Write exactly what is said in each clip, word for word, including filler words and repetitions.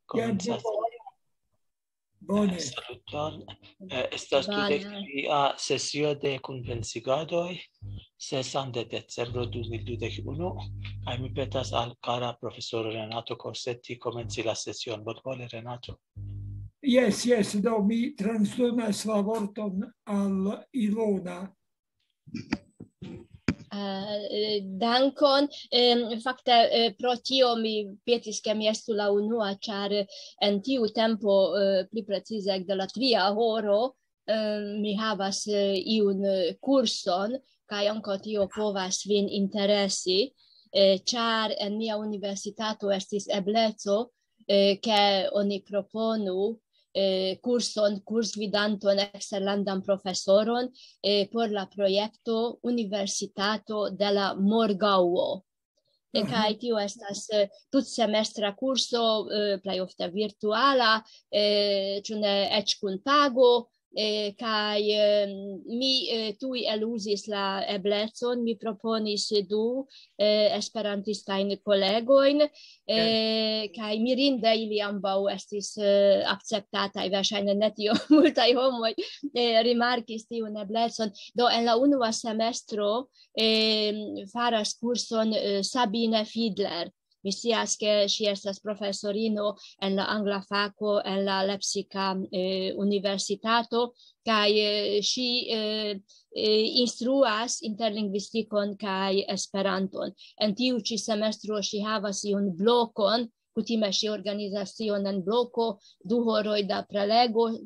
Komencas. Bone. Saluton. Eh, Estas dudek tria sesio de kunvensigadoj, sesan de decembro du mil dudek unu, kaj mi petas al kara profesoro Renato Corsetti komenci la sesion. Bonvole, Renato. Jes, jes, do mi transdonas la vorton al Ilona. Eh, dankon. Em, fakte, eh, pro tio mi petis, ke mi estu la unua, ĉar en tiu tempo, eh, pli precize ekde la tria horo, eh, mi havas, eh, iun, eh, kurson, kaj ankaŭ tio povas vin interesi, eh, ĉar en mia universitato estis ebleco, eh, ke oni proponu, eh, kurson, kursgvidanton, eksterlandan profesoron, eh, por la projekto Universitato de la Morgaŭo. Eh, Kaj tio estas, eh, tutsemestra kurso, eh, plej ofte virtuala, eh, ĉu ne eĉ kun pago, eh, kaj, eh, mi, eh, tuj eluzis la eblecon, mi proponis du, eh, esperantistajn kolegojn, eh, kaj mirinde ili ambaŭ estis, eh, akceptataj, verŝajne ne tio multaj homoj, eh, rimarkis tiun eblecon. Do en la unua semestro, eh, faras kurson, eh, Sabine Fiedler. Mi scias, ke ŝi estas profesorino en la angla fako en la Leipziga, eh, universitato, kaj, eh, ŝi, eh, eh, instruas interlingvistikon kaj Esperanton. En tiu ĉi semestro ŝi havas iun blokon, kutime ŝi organizas tion en bloko, du horoj da prelego,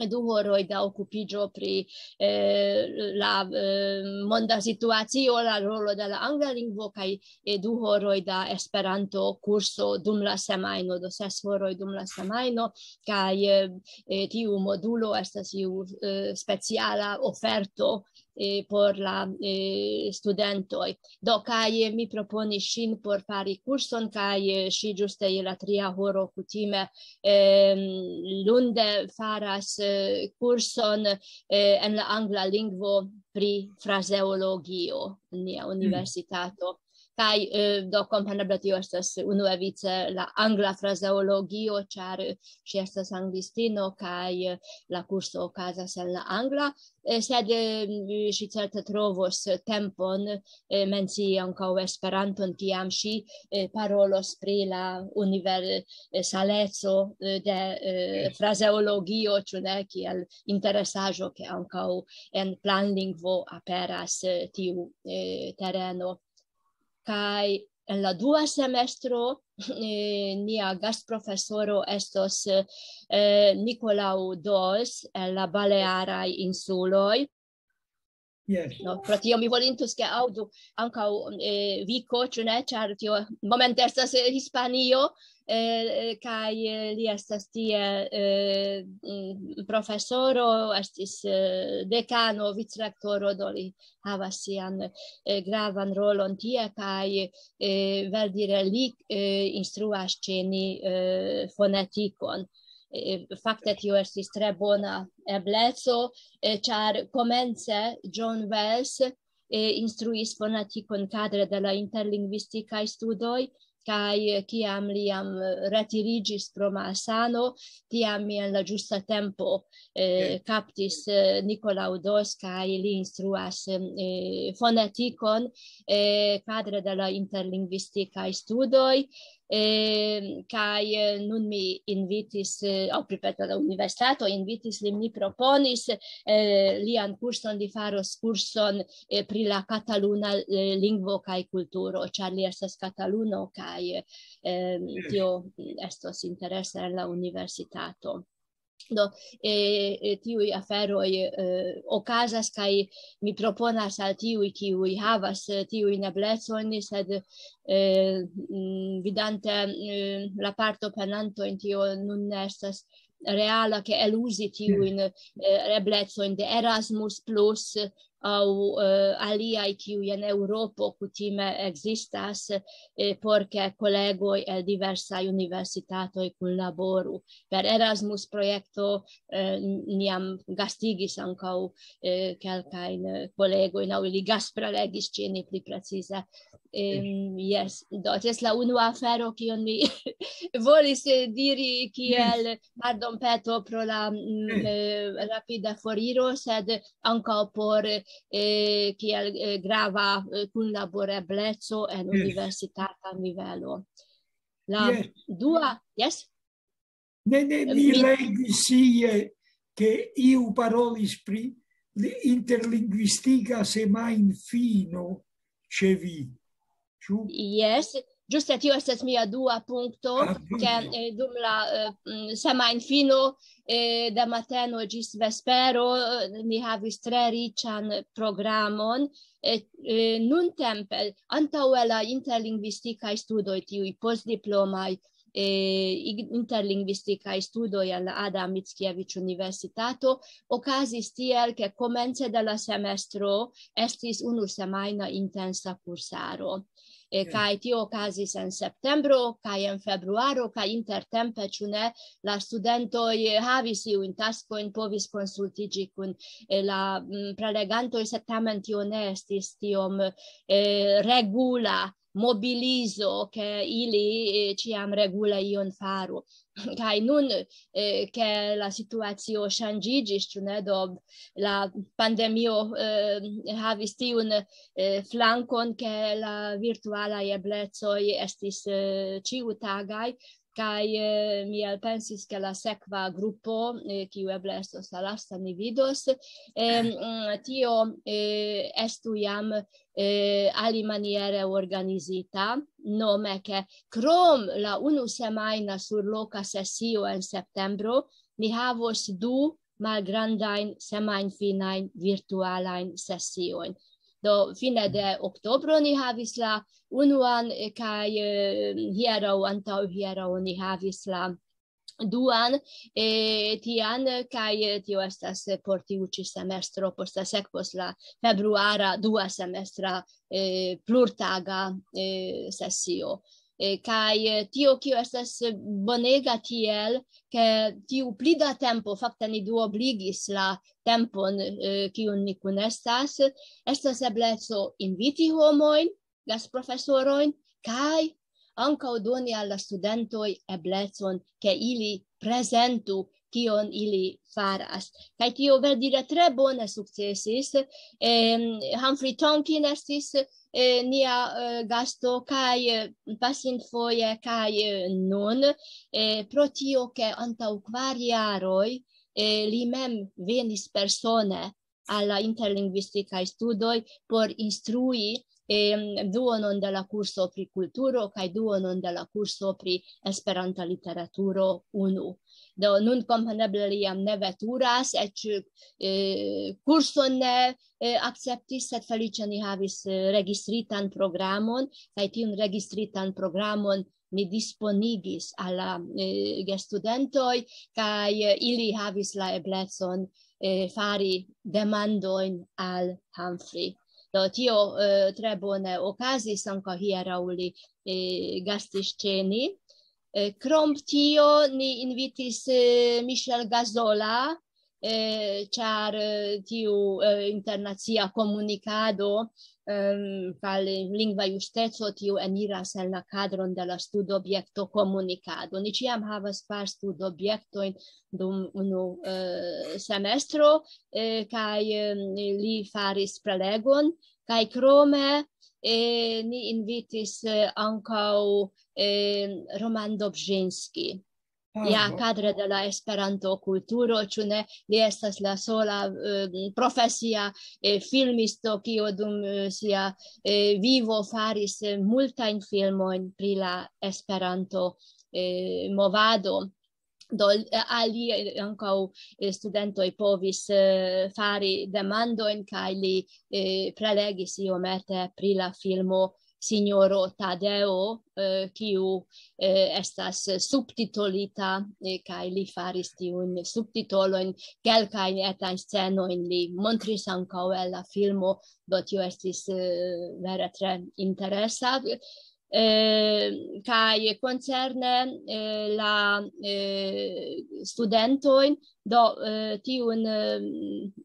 du horoj da okupiĝo pri, eh, la, eh, monda situacio, la rolo de la angla lingvo, kaj, eh, du horoj da Esperanto kurso dum la semajno, do ses horoj dum la semajno, kaj, eh, eh, tiu modulo estas iu, eh, speciala oferto, eh, por la, eh, studentoj. Do, kaj mi proponis ŝin por fari kurson, kaj, eh, ŝi ĝuste je la tria horo kutime, ehm, lunde faras, eh, kurson, eh, en la angla lingvo pri frazeologio en nia universitato. Kaj, eh, do, kompreneble tio estas unuevice la angla frazeologio, ĉar, eh, ŝi estas anglistino, kaj, eh, la kurso okazas en la angla, eh, sed, eh, ŝi certe trovos tempon, eh, mencii ankaŭ Esperanton, kiam ŝi, eh, parolos pri la universaleco, eh, de, eh, frazeologio, ĉu ne, kiel interesaĵo, ke ankaŭ en planlingvo aperas, eh, tiu, eh, tereno. Kaj en la dua semestro, eh, nia gastprofesoro estos, eh, Nicolau Dos el la Balearaj Insuloj. Yes. No, pro tio mi volintus, ke aŭdu ankaŭ, eh, Viko, ĉu ne, ĉar tio momente estas, eh, Hispanio, eh, kaj, eh, li estas tie, eh, mm, profesoro, estis, eh, dekano, vicrektoro, do li havas sian, eh, gravan rolon tie, kaj, eh, verdire li, eh, instruas ĉe ni, eh, fonetikon. Eh, fakte tio estis tre bona ebleco, eh, ĉar komence John Wells, eh, instruis fonetikon kadre de la interlingvistikaj studoj, kaj, eh, kiam li jam, eh, retiriĝis pro malsano, tiam mi en la ĝusta tempo, eh, kaptis, eh, Nicolau Dos, kaj li instruas, eh, fonetikon, eh, kadre de la interlingvistikaj studoj, eh, kaj, eh, nun mi invitis, eh, aŭ pli bone la universitato invitis lin, mi proponis, eh, lian kurson, li faros kurson, eh, pri la kataluna, eh, lingvo kaj kulturo, ĉar li estas kataluno, kaj, eh, tio estos interesa en la universitato. Do, eh, eh, tiuj aferoj, eh, okazas, kaj mi proponas al tiuj, kiuj havas, eh, tiujn eblecojn, sed, eh, mm, vidante, eh, la partoprenantojn, tio nun ne estas reala, ke eluzi tiujn, eh, eblecojn de Erasmus plus, aŭ eh, aliaj, kiuj en Eŭropo kutime ekzistas, eh, por ke kolegoj el diversaj universitatoj kunlaboru. Per Erasmus projekto eh, niam gastigis ankaŭ eh, kelkajn eh, kolegojn, aŭ ili gasprelegis ĉe ni pli precize. Em, Jes, do ties la unua afero, kion mi volis eh, diri kiel pardonpeto pro la mm, eh, rapida foriro, sed ankaŭ por eh, kiel eh, grava eh, kunlaborebleco en universitata nivelo. La dua, jes? Ne, ne, mi legis ie, ke iu parolis pri interlinguistika semajnfino ĉe vi. Ĉu? Jes, ĝuste tio estas mia dua punkto, ah, ke eh, dum la eh, mm, semajnfino eh, de mateno ĝis vespero eh, ni havis tre riĉan programon. Eh, eh, nuntempe, antaŭe la interlingvistikaj studoj, tiuj postdiplomaj eh, interlingvistikaj studoj en la Adam Mickiewicz Universitato, okazis tiel, ke komence de la semestro estis unu semajna intensa kursaro. Eh, kaj tio okazis en septembro, kaj en februaro, kaj intertempe, ĉu ne, la studentoj eh, havis iujn taskojn, povis konsultiĝi kun eh, la mm, prelegantoj, sed tamen tio ne estis tiom eh, regula mobilizo, ke ili eh, ĉiam regule ion faru. Kaj nun, eh, ke la situacio ŝanĝiĝis, ĉu ne, do la pandemio eh, havis tiun eh, flankon, ke la virtualaj eblecoj estis eh, ĉiutagaj, kaj eh, mi elpensis, ke la sekva grupo, eh, kiu eble estos la lasta, ni vidos, eh, mm, tio eh, estu jam eh, alimaniere organizita, nome ke krom la unu semajna surloka sesio en septembro, ni havos du malgrandajn semajnfinajn virtualajn sesiojn. Do fine de oktobro ni havis la unuan eh, kaj eh, hieraŭ, antaŭ hieraŭ ni havis la duan eh, tian, kaj eh, tio estas eh, por tiu ĉi semestro, poste sekvos la februara dua semestra eh, plurtaga eh, sesio. Eh, kaj eh, tio, kio estas bonega tiel, ke tiu pli da tempo, fakte ni duobligis la tempon, eh, kiun ni kunestas, estas ebleco inviti homojn, gasprofesorojn, kaj ankaŭ doni al la studentoj eblecon, ke ili prezentu, kion ili faras. Kaj tio verdire tre bone sukcesis. Eh, Humphrey Tonkin estis eh, nia eh, gasto, kaj eh, pasintfoje, kaj eh, nun, eh, pro tio, ke antaŭ kvar jaroj eh, li mem venis persone al la interlingvistikaj studoj por instrui eh, duonon de la kurso pri kulturo kaj duonon de la kurso pri Esperanta literaturo unu. Do nun kompreneble li jam ne veturas, eĉ eh, kurson ne eh, akceptis, sed feliĉe ni havis eh, registritan programon, kaj tiun registritan programon ni disponigis al la eh, gestudentoj, kaj eh, ili havis la eblecon eh, fari demandojn al Humphrey. Do tio eh, tre bone okazis, ankaŭ hieraŭ li eh, gastis ĉe ni. Eh, krom tio ni invitis eh, Michel Gazola, eh, ĉar eh, tiu eh, internacia komunikado ehm, kaj lingva justeco, tiu eniras en la kadron de la studobjekto komunikado. Ni ĉiam havas kvar studobjektojn dum unu eh, semestro, eh, kaj eh, li faris prelegon, kaj krome eh, ni invitis eh, ankaŭ eh, Roman Dobrzynski. Ja, kadre de la Esperanto-kulturo, ĉu ne? Li estas la sola eh, profesia eh, filmisto, kiu dum eh, sia eh, vivo faris eh, multajn filmojn pri la Esperanto eh, movado. Do eh, al li eh, ankaŭ eh, studentoj povis eh, fari demandojn, kaj li eh, prelegis iomete pri la filmo Signoro Tadeo, eh, kiu, eh, estas subtitolita, eh, kaj li faris tiun subtitolojn, kelkajn etajn scenojn li montris ankaŭ el la filmo, do tio estis, eh, vere tre interesa. Eh, kaj koncerne, eh, la, eh, studentojn, do, eh, tiun, eh,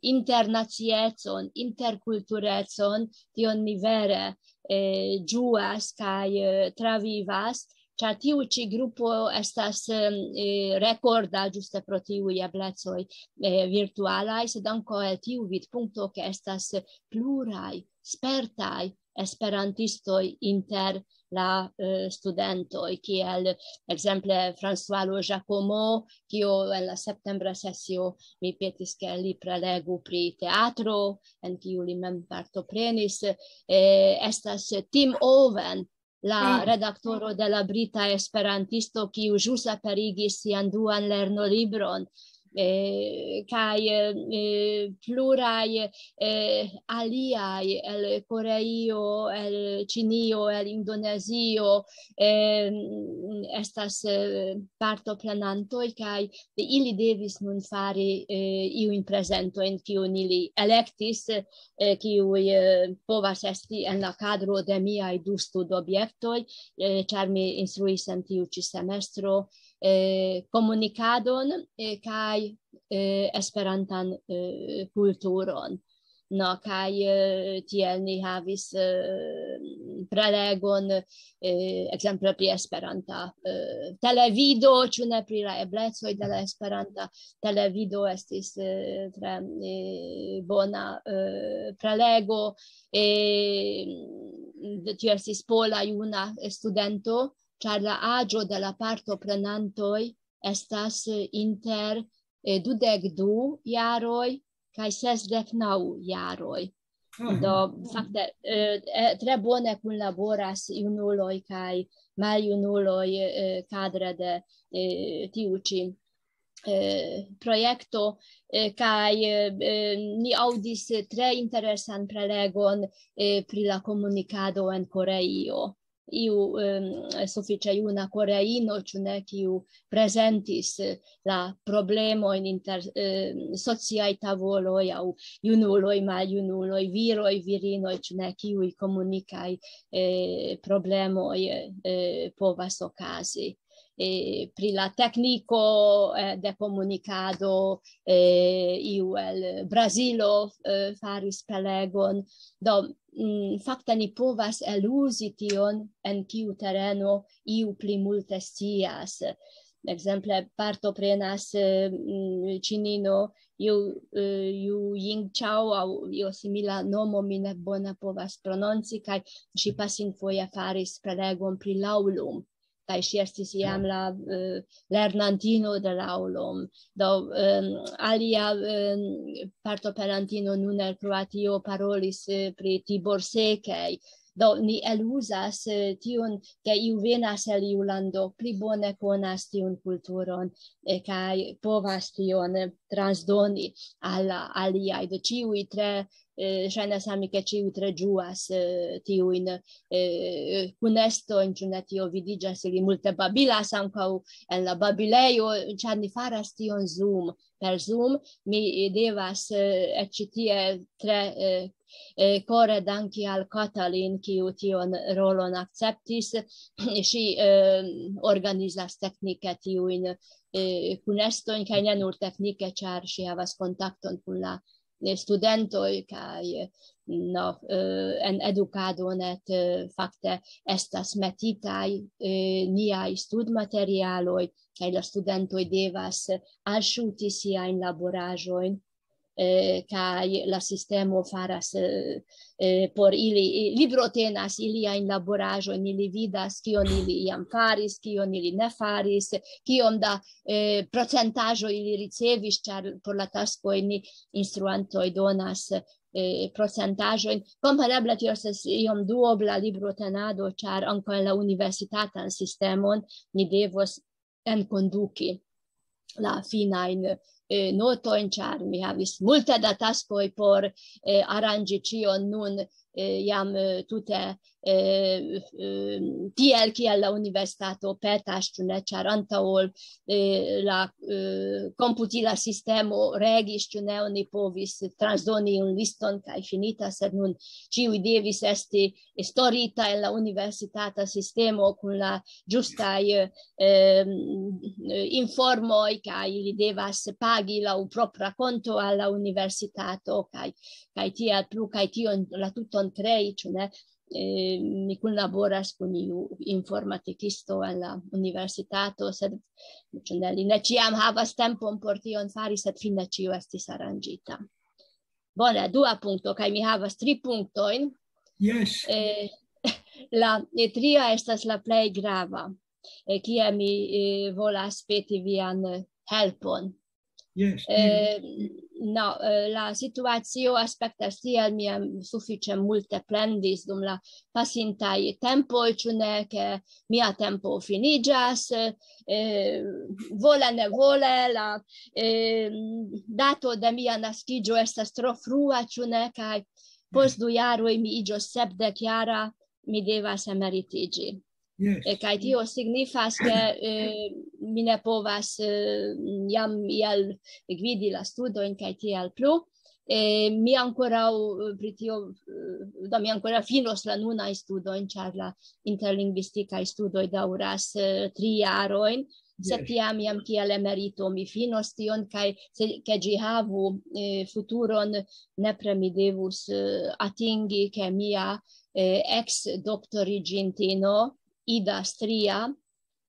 internaciecon, interkulturecon, tion ni vere, eh, ĝuas kaj, eh, travivas, ĉar tiu ĉi grupo estas, eh, rekorda ĝuste pro tiuj eblecoj, eh, virtualaj, sed ankaŭ el tiu vidpunkto, ke estas pluraj spertaj esperantistoj inter la, eh, studentoj, kiel ekzemple François Giacomo, kio en la septembra sesio mi petis, ke li prelegu pri teatro, en kiu li mem partoprenis, eh, estas Tim Owen, la redaktoro de la Brita Esperantisto, kiu ĵus aperigis sian duan lernolibron, eh, kaj, eh, pluraj, eh, aliaj el Koreio, el Ĉinio, el Indonezio, eh, estas, eh, partoprenantoj, kaj ili devis nun fari, eh, iujn prezentojn, kiujn ili elektis, eh, kiuj, eh, povas esti en la kadro de miaj du studobjektoj, eh, ĉar mi instruis en tiu ĉi semestro, eh, komunikadon, eh, kaj, eh, esperantan, eh, kulturon. No, kaj, eh, tiel ni havis, eh, prelegon, eh, ekzemple pri Esperanta, eh, televido, ĉu ne, pri la eblecoj de la Esperanta televido estis, eh, tre, eh, bona, eh, prelego. Eh, tio estis pola juna studento, ĉar la aĝo de la partoprenantoj estas, eh, inter, eh, dudek du jaroj kaj sesdek naŭ jaroj. Do, fakte, eh, eh, tre bone kunlaboras junuloj kaj maljunuloj, eh, kadre de, eh, tiu ĉi, eh, projekto, eh, kaj, eh, eh, ni aŭdis tre interesan prelegon, eh, pri la komunikado en Koreio. Iu, em, sufiĉe juna koreino, ĉu ne, kiu prezentis, eh, la problemojn inter, eh, sociaj tavoloj aŭ junuloj, maljunuloj, viroj, virinoj, ĉu ne, kiuj komunikaj, eh, problemoj, eh, povas okazi. Eh, pri la tekniko, eh, de komunikado, eh, iu el Brazilo, eh, faris prelegon. Do, mm, fakte ni povas eluzi tion, en kiu tereno iu pli multe scias. Ekzemple, partoprenas, eh, mm, ĉinino, Yu, eh, Yu Yingchao, aŭ io simila nomo, mi ne bone povas prononci, kaj ŝi pasinfoje faris prelegon pri Laulum. Kaj ŝi estis jam la, eh, lernantino de Laulum. Do, em, alia, em, partoprenantino nun el Kroatio parolis, eh, pri Tibor Sekej. Do, ni eluzas, eh, tiun, ke iu venas el iu lando, pli bone konas tiun kulturon, eh, kaj povas tion, eh, transdoni al la aliaj. Do, ĉiuj tre, eh, ŝajnas al mi, ke ĉiuj tre ĝuas, eh, tiujn, eh, kunestojn, ĉu ne, tio vidiĝas, ili multe babilas ankaŭ en la babilejo, ĉar ni faras tion Zoom. Per Zoom mi devas, eh, eĉ ĉi tie tre, eh, eh, kore danki al Katalin, kiu tion rolon akceptis. Ŝi, eh, organizas teknike tiujn, eh, kunestojn, kaj ne nur teknike, ĉar ŝi havas kontakton kun la, eh, studentoj, kaj, eh, no, eh, en edukado net, eh, fakte estas metitaj, eh, niaj studmaterialoj, kaj la studentoj devas alŝuti siajn laboraĵojn, eh, kaj la sistemo faras, eh, eh, por ili, i-, librotenas iliajn laboraĵojn, ili vidas, kion ili iam faris, kion ili ne faris, kiom da, eh, procentaĵo ili ricevis, ĉar por la taskoj ni instruantoj donas, eh, procentaĵojn. Kompreneble tio estas iom duobla librotenado, ĉar ankaŭ en la universitatan sistemon ni devos enkonduki la finajn, eh, notojn, ĉar mi havis multe da taskoj por, eh, aranĝi ĉion nun, eh, jam, eh, tute, eh, eh, tiel kiel la universitato petas, ĉu ne, ĉar antaŭ ol, eh, la, eh, komputila sistemo regis, ĉu ne, oni povis transdoni iun liston kaj finita, sed nun ĉiuj devis esti estorita en la universitata sistemo kun la ĝustaj, eh, informoj, kaj ili devas pagi laŭ propra konto al la universitato, kaj, kaj tiel plu, kaj tion la tuton krei, ĉu ne? Eh, mi kunlaboras kun iu informatikisto en la universitato, sed, ĉu ne, li ne ĉiam havas tempon por tion fari, sed fine ĉio estis aranĝita. Bone, dua punkto, kaj mi havas tri punktojn. Jes. Eh, la, eh, tria estas la plej grava, eh, kie mi, eh, volas peti vian, eh, helpon. Jes. Eh, no, eh, la situacio aspektas tiel, mi jam sufiĉe multe plendis dum la pasintaj tempoj, ĉu ne, ke mia tempo finiĝas, eh, vole ne vole, la, eh, dato de mia naskiĝo estas tro frua, ĉu ne, kaj post du jaroj mi iĝos sepdek jara, mi devas emeritiĝi. Jes. Eh, kaj tio signifas, ke, eh, mi ne povas, eh, jam iel gvidi la studojn kaj tiel plu. Eh, mi ankoraŭ, eh, pri tio, eh, do mi ankoraŭ finos la nunaj studojn, ĉar la interlingvistikaj studoj daŭras, eh, tri jarojn, sed Jes. Tiam jam kiel emerito mi finos tion, kaj se, ke ĝi havu, eh, futuron, nepre mi devus, eh, atingi, ke mia, eh, ex doktoriĝintino Ida Stria,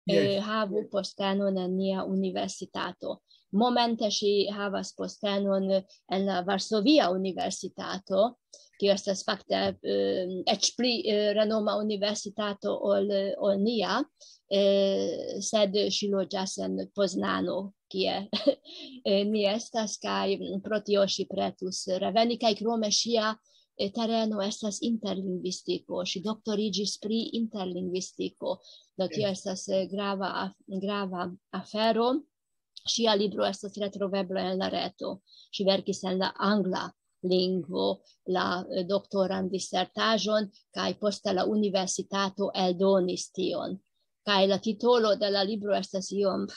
eh, Jes. havu postenon en nia universitato. Momente ŝi havas postenon en la Varsovia Universitato, kiu estas fakte, eh, eĉ pli, eh, renoma universitato ol, ol nia, eh, sed ŝi loĝas en Poznano, kie, eh, ni estas, kaj pro tio ŝi pretus reveni, kaj krome ŝia, eh, tereno estas interlingvistiko. Ŝi doktoriĝis pri interlingvistiko. Do tio Jes. Estas, eh, grava af-, grava afero. Ŝia libro estas retrovebla en la reto. Ŝi verkis en la angla lingvo la, eh, doktoran disertaĵon, kaj poste la universitato eldonis tion. Kaj la titolo de la libro estas iom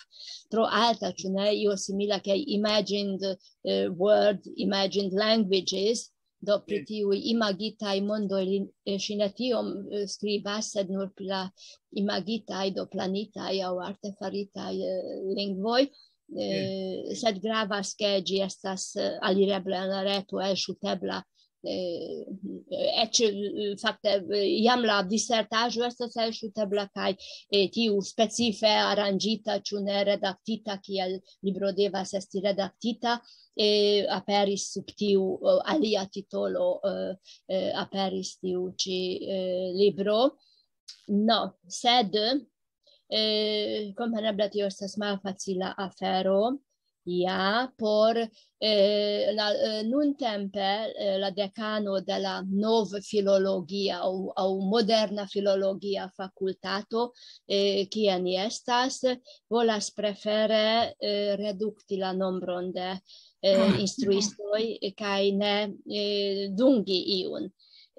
tro alta, ĉu ne? Io simila ke Imagined, eh, World, Imagined Languages, do pri Jes. Tiuj imagitaj mondoj li, eh, ŝi ne tiom, eh, skribas, sed nur pri la imagitaj, do planitaj aŭ artefaritaj, eh, lingvoj. Eh, sed gravas, ke ĝi estas, eh, alirebla en la reto, elŝutebla, eh, eĉ, eh, fakte, eh, jam la disertaĵo estas elŝutebla, kaj, eh, tiu specife aranĝita, ĉu ne redaktita, kiel libro devas esti redaktita, eh, aperis sub tiu, eh, alia titolo, eh, eh, aperis tiu ĉi, eh, libro. No, sed, eh, kompreneble tio estas malfacila afero, ja, por, eh, la, eh, nuntempe, eh, la dekano de la novfilologia aŭ, aŭ moderna filologia fakultato, eh, kie ni estas, volas prefere, eh, redukti la nombron de, eh, Ah. instruistoj, eh, kaj ne, eh, dungi iun.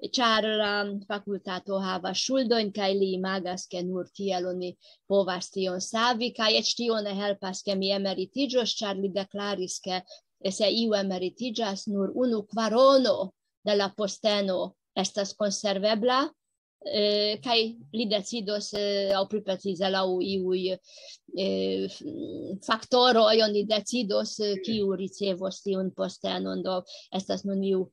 Ĉar la fakultato havas ŝuldojn, kaj li imagas, ke nur tiel oni povas tion savi, kaj eĉ tio ne helpas, ke mi emeritiĝos, ĉar li deklaris, ke se iu emeritiĝas, nur unu kvarono de la posteno estas konservebla, eh, kaj li decidos, eh, aŭ pli precize laŭ iuj, eh, f-, faktoroj oni decidos, eh, kiu ricevos tiun postenon, do estas nun iu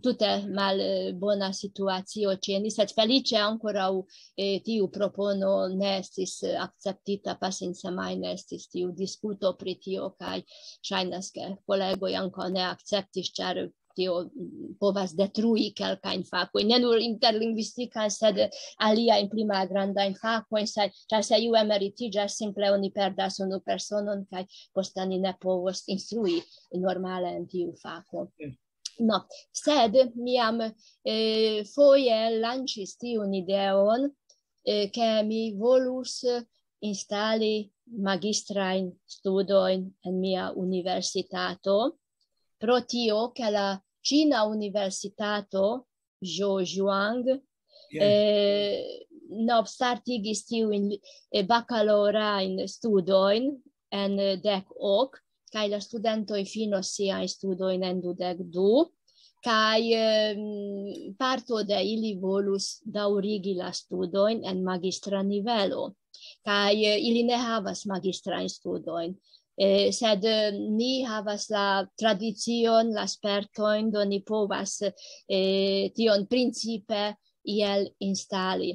tute mal, eh, bona situacio ĉe ni, sed feliĉe ankoraŭ, eh, tiu propono ne estis, eh, akceptita, pasinsemajne estis tiu diskuto pri tio, kaj ŝajnas, ke kolegoj ankaŭ ne akceptis, ĉar tio, mm, povas detrui kelkajn fakojn, ne nur interlingvistikan, sed aliajn pli malgrandajn fakojn, se, ĉar se iu emeritiĝas, simple oni perdas unu personon, kaj poste ni ne povos instrui normale en tiu fako. No, sed mi jam, eh, foje lanĉis tiun ideon, eh, ke mi volus instali magistrajn studojn en mia universitato, pro tio, ke la Ĉina Universitato Zhejiang, eh, novstartigis tiujn, eh, bakalaŭrajn studojn en dek ok, kaj la studentoj finos siajn studojn en dudek du, kaj, ehm, parto de ili volus daŭrigi la studojn en magistra nivelo, kaj, eh, ili ne havas magistrajn studojn. Eh, sed, eh, ni havas la tradicion, la spertojn, do ni povas, eh, tion principe iel instali.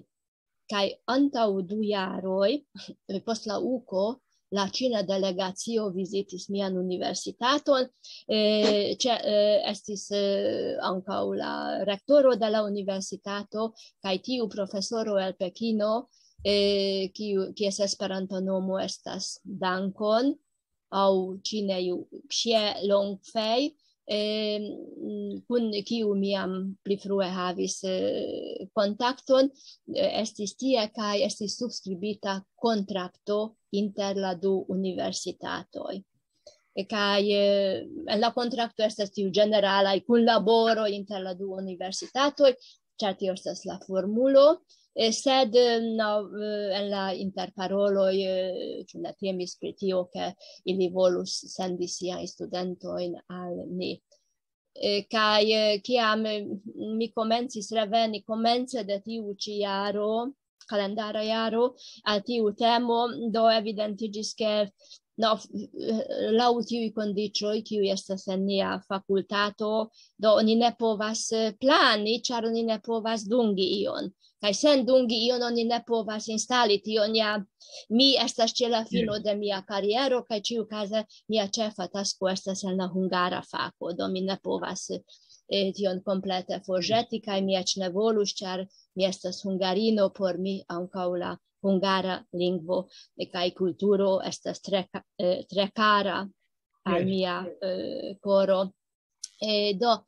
Kaj antaŭ du jaroj, eh, post la uko, la ĉina delegacio vizitis mian universitaton, eh, ĉe, eh, estis, eh, ankaŭ la rektoro de la universitato, kaj tiu profesoro el Pekino, eh, kiu, kies Esperanta nomo estas Dankon, aŭ ĉine Xie Longfei, eh, kun kiu mi jam pli frue havis, eh, kontakton, eh, estis tie kaj estis subskribita kontrakto inter la du universitatoj. E kaj, eh, en la kontrakto estas tiu ĝeneralaj kunlaboro inter la du universitatoj, ĉar tio estas la formulo, eh, sed, eh, no, eh, en la interparoloj, eh, ĉu ne temis pri tio, ke ili volus sendi siajn studentojn al ni. Eh, kaj, eh, kiam, eh, mi komencis reveni komence de tiu ĉi jaro, kalendara jaro, al tiu temo, do evidentiĝis, ke, no, f-, laŭ tiuj kondiĉoj, kiuj estas en nia fakultato, do oni ne povas, eh, plani, ĉar oni ne povas dungi ion. Kaj sen dungi ion oni ne povas instali, tion ja mi estas ĉe la fino de mia kariero, kaj ĉiukaze mia ĉefa tasko estas en la hungara fako, do mi ne povas, eh, tion komplete forĵeti, kaj mi eĉ ne volus, ĉar mi estas hungarino, por mi ankaŭ la hungara lingvo, eh, kaj kulturo estas tre ka-, eh, tre kara al Yes. mia, eh, koro. Eh, do,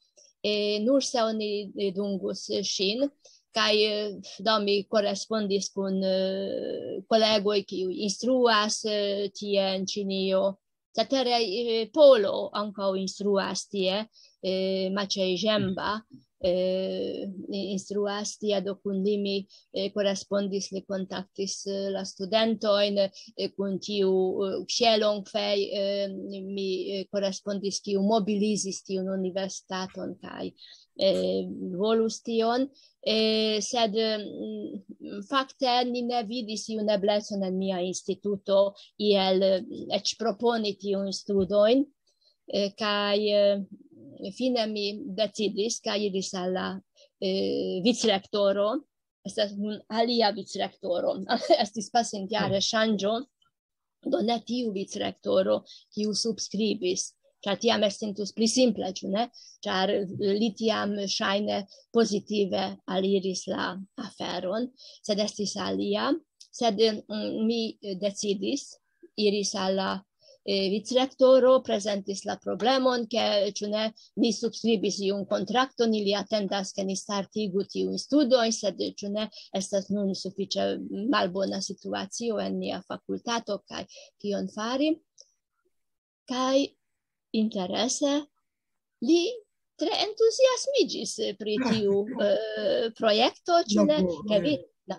eh, nur se oni, eh, dungus ŝin, kaj, eh, do mi korespondis kun, eh, kolegoj, kiuj instruas, eh, tie en Ĉinio. Cetere, eh, Polo ankaŭ instruas tie, eh, Maciej Żemba, eh, instruas tie, do kun li mi, eh, korespondis, li kontaktis, eh, la studentojn, eh, kun tiu, eh, Xie Longfei, eh, mi, eh, korespondis, kiu mobilizis tiun universitaton kaj, eh, volus tion. Eh, sed, mm, fakte ni ne vidis iun eblecon en mia instituto iel, eh, eĉ proponi tiujn studojn. Eh, kaj, eh, fine mi decidis, kaj iris al la, eh, vicrektoro, estas nun alia vicrektoro, estis pasintjare ŝanĝo, do ne tiu vicrektoro, kiu subskribis, ĉar tiam estintus pli simple, ĉu ne? Ĉar li tiam ŝajne pozitive aliris la aferon, sed estis alia, sed, mm, mi decidis, iris al la, eh, vicrektoro, prezentis la problemon, ke, ĉu ne, ni subskribis iun kontrakton, ili atendas, ke ni startigu tiujn studojn, sed, ĉu ne, estas nun sufiĉe malbona situacio en nia fakultato, kaj kion fari? Kaj interese, li tre entuziasmiĝis pri tiu, eh, projekto, ĉu ne? Laboro, Ke vi, eh. No,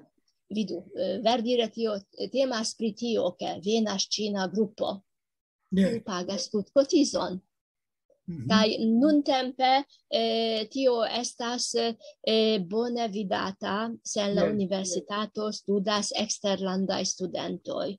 vidu, eh, verdire tio, eh, temas pri tio, ke venas ĉina grupo, Ne. kiu pagas tutkotizon. Mhm. Kaj nuntempe, eh, tio estas, eh, bone vidata, se en la Yes. universitato studas eksterlandaj studentoj.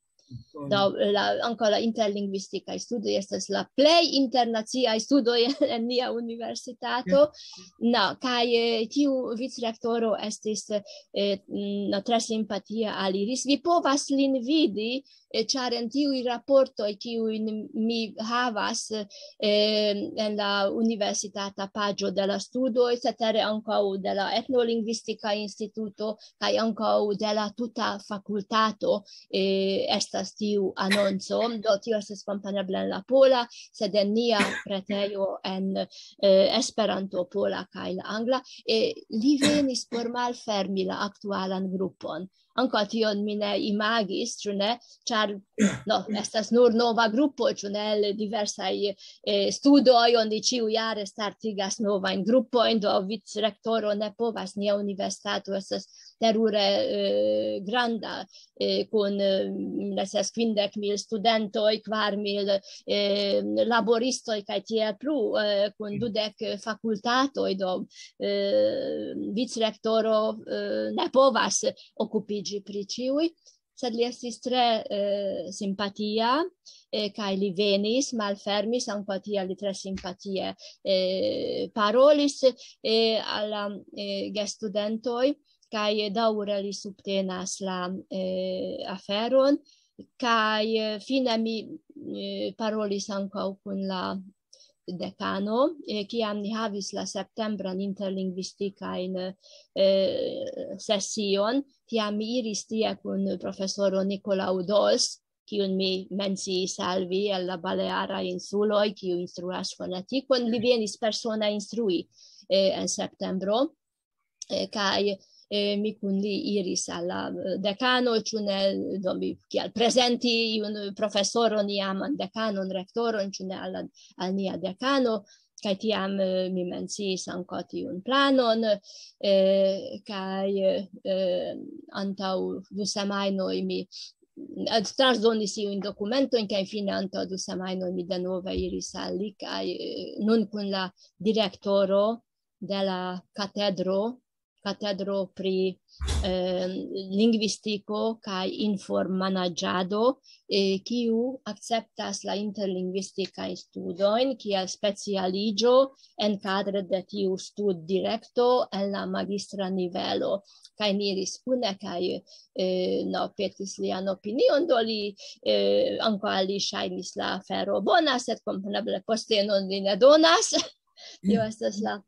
Bone. Do, la, ankaŭ la interlingvistikaj studoj estas la plej internaciaj studoj en nia universitato. Yes. No, kaj, eh, tiu vicrektoro estis, eh, mm, no, tre simpatia aliris. Vi povas lin vidi, eh, ĉar en tiuj raportoj, kiujn mi havas, eh, en la universitata paĝo de la studoj, cetere ankaŭ de la etnolingvistika instituto, kaj ankaŭ de la tuta fakultato, eh, estas tiu anonco. Do tio estas kompreneble en la pola, sed en nia retejo en, eh, Esperanto pola kaj la angla, eh, li venis por malfermi la aktualan grupon. Ankaŭ tion mi ne imagis, ĉu ne? Ĉar, no, estas nur nova grupo, ĉu ne? El diversaj, eh, studoj oni ĉiujare startigas novajn grupojn, do vicrektoro ne povas, nia universitato estas terure, eh, granda, eh, kun, eh, estas kvindek mil studentoj, kvar mil, eh, laboristoj kaj tiel plu, eh, kun dudek fakultatoj, do, eh, vicrektoro, eh, ne povas okupiĝi pri ĉiuj, sed li estis tre, eh, simpatia, eh, kaj li venis, malfermis, ankaŭ tiel li tre simpatie, eh, parolis, eh, al la, eh, gestudentoj, kaj daŭre li subtenas la, eh, aferon, kaj, eh, fine mi, eh, parolis ankaŭ kun la dekano, eh, kiam ni havis la septembran interlingvistikajn, eh, sesion, tiam mi iris tie kun profesoro Nicolau Dols, kiun mi menciis al vi el la Balearaj Insuloj, kiu instruas fonetikon. Li venis persone instrui, eh, en septembro, eh, kaj, eh, mi kun li iris al la, eh, dekano, ĉu ne, do mi kiel prezenti iun profesoron, iaman dekanon, rektoron, ĉu ne al la, al nia dekano, kaj tiam, eh, mi menciis ankaŭ tiun planon, eh, kaj, eh, antaŭ du semajnoj mi, eh, transdonis iujn dokumentojn, kaj fine antaŭ du semajnoj mi denove iris al li, kaj, eh, nun kun la direktoro de la katedro, katedro pri, eh, lingvistiko kaj informanaĝado, eh, kiu akceptas la interlingvistikajn studojn kiel specialiĝo en kadre de tiu studdirekto en la magistra nivelo. Kaj ni iris kune kaj, eh, no, petis lian opinion, do li, eh, ankaŭ al li ŝajnis la afero bona, sed kompreneble postenon li ne donas. Tio estas la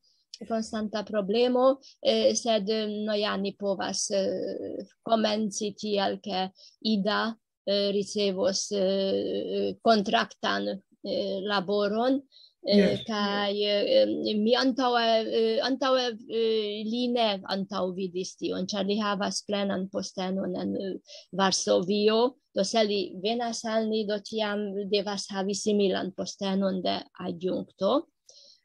konstanta problemo, eh, sed, eh, no, ja, ni povas, eh, komenci tiel, ke Ida, eh, ricevos, eh, kontraktan, eh, laboron, eh, Yes. kaj, eh, mi antaŭe, eh, antaŭe, eh, li ne antaŭvidis tion, ĉar li havas plenan postenon en, eh, Varsovio, do se li venas al ni, do tiam devas havi similan postenon de adjunkto.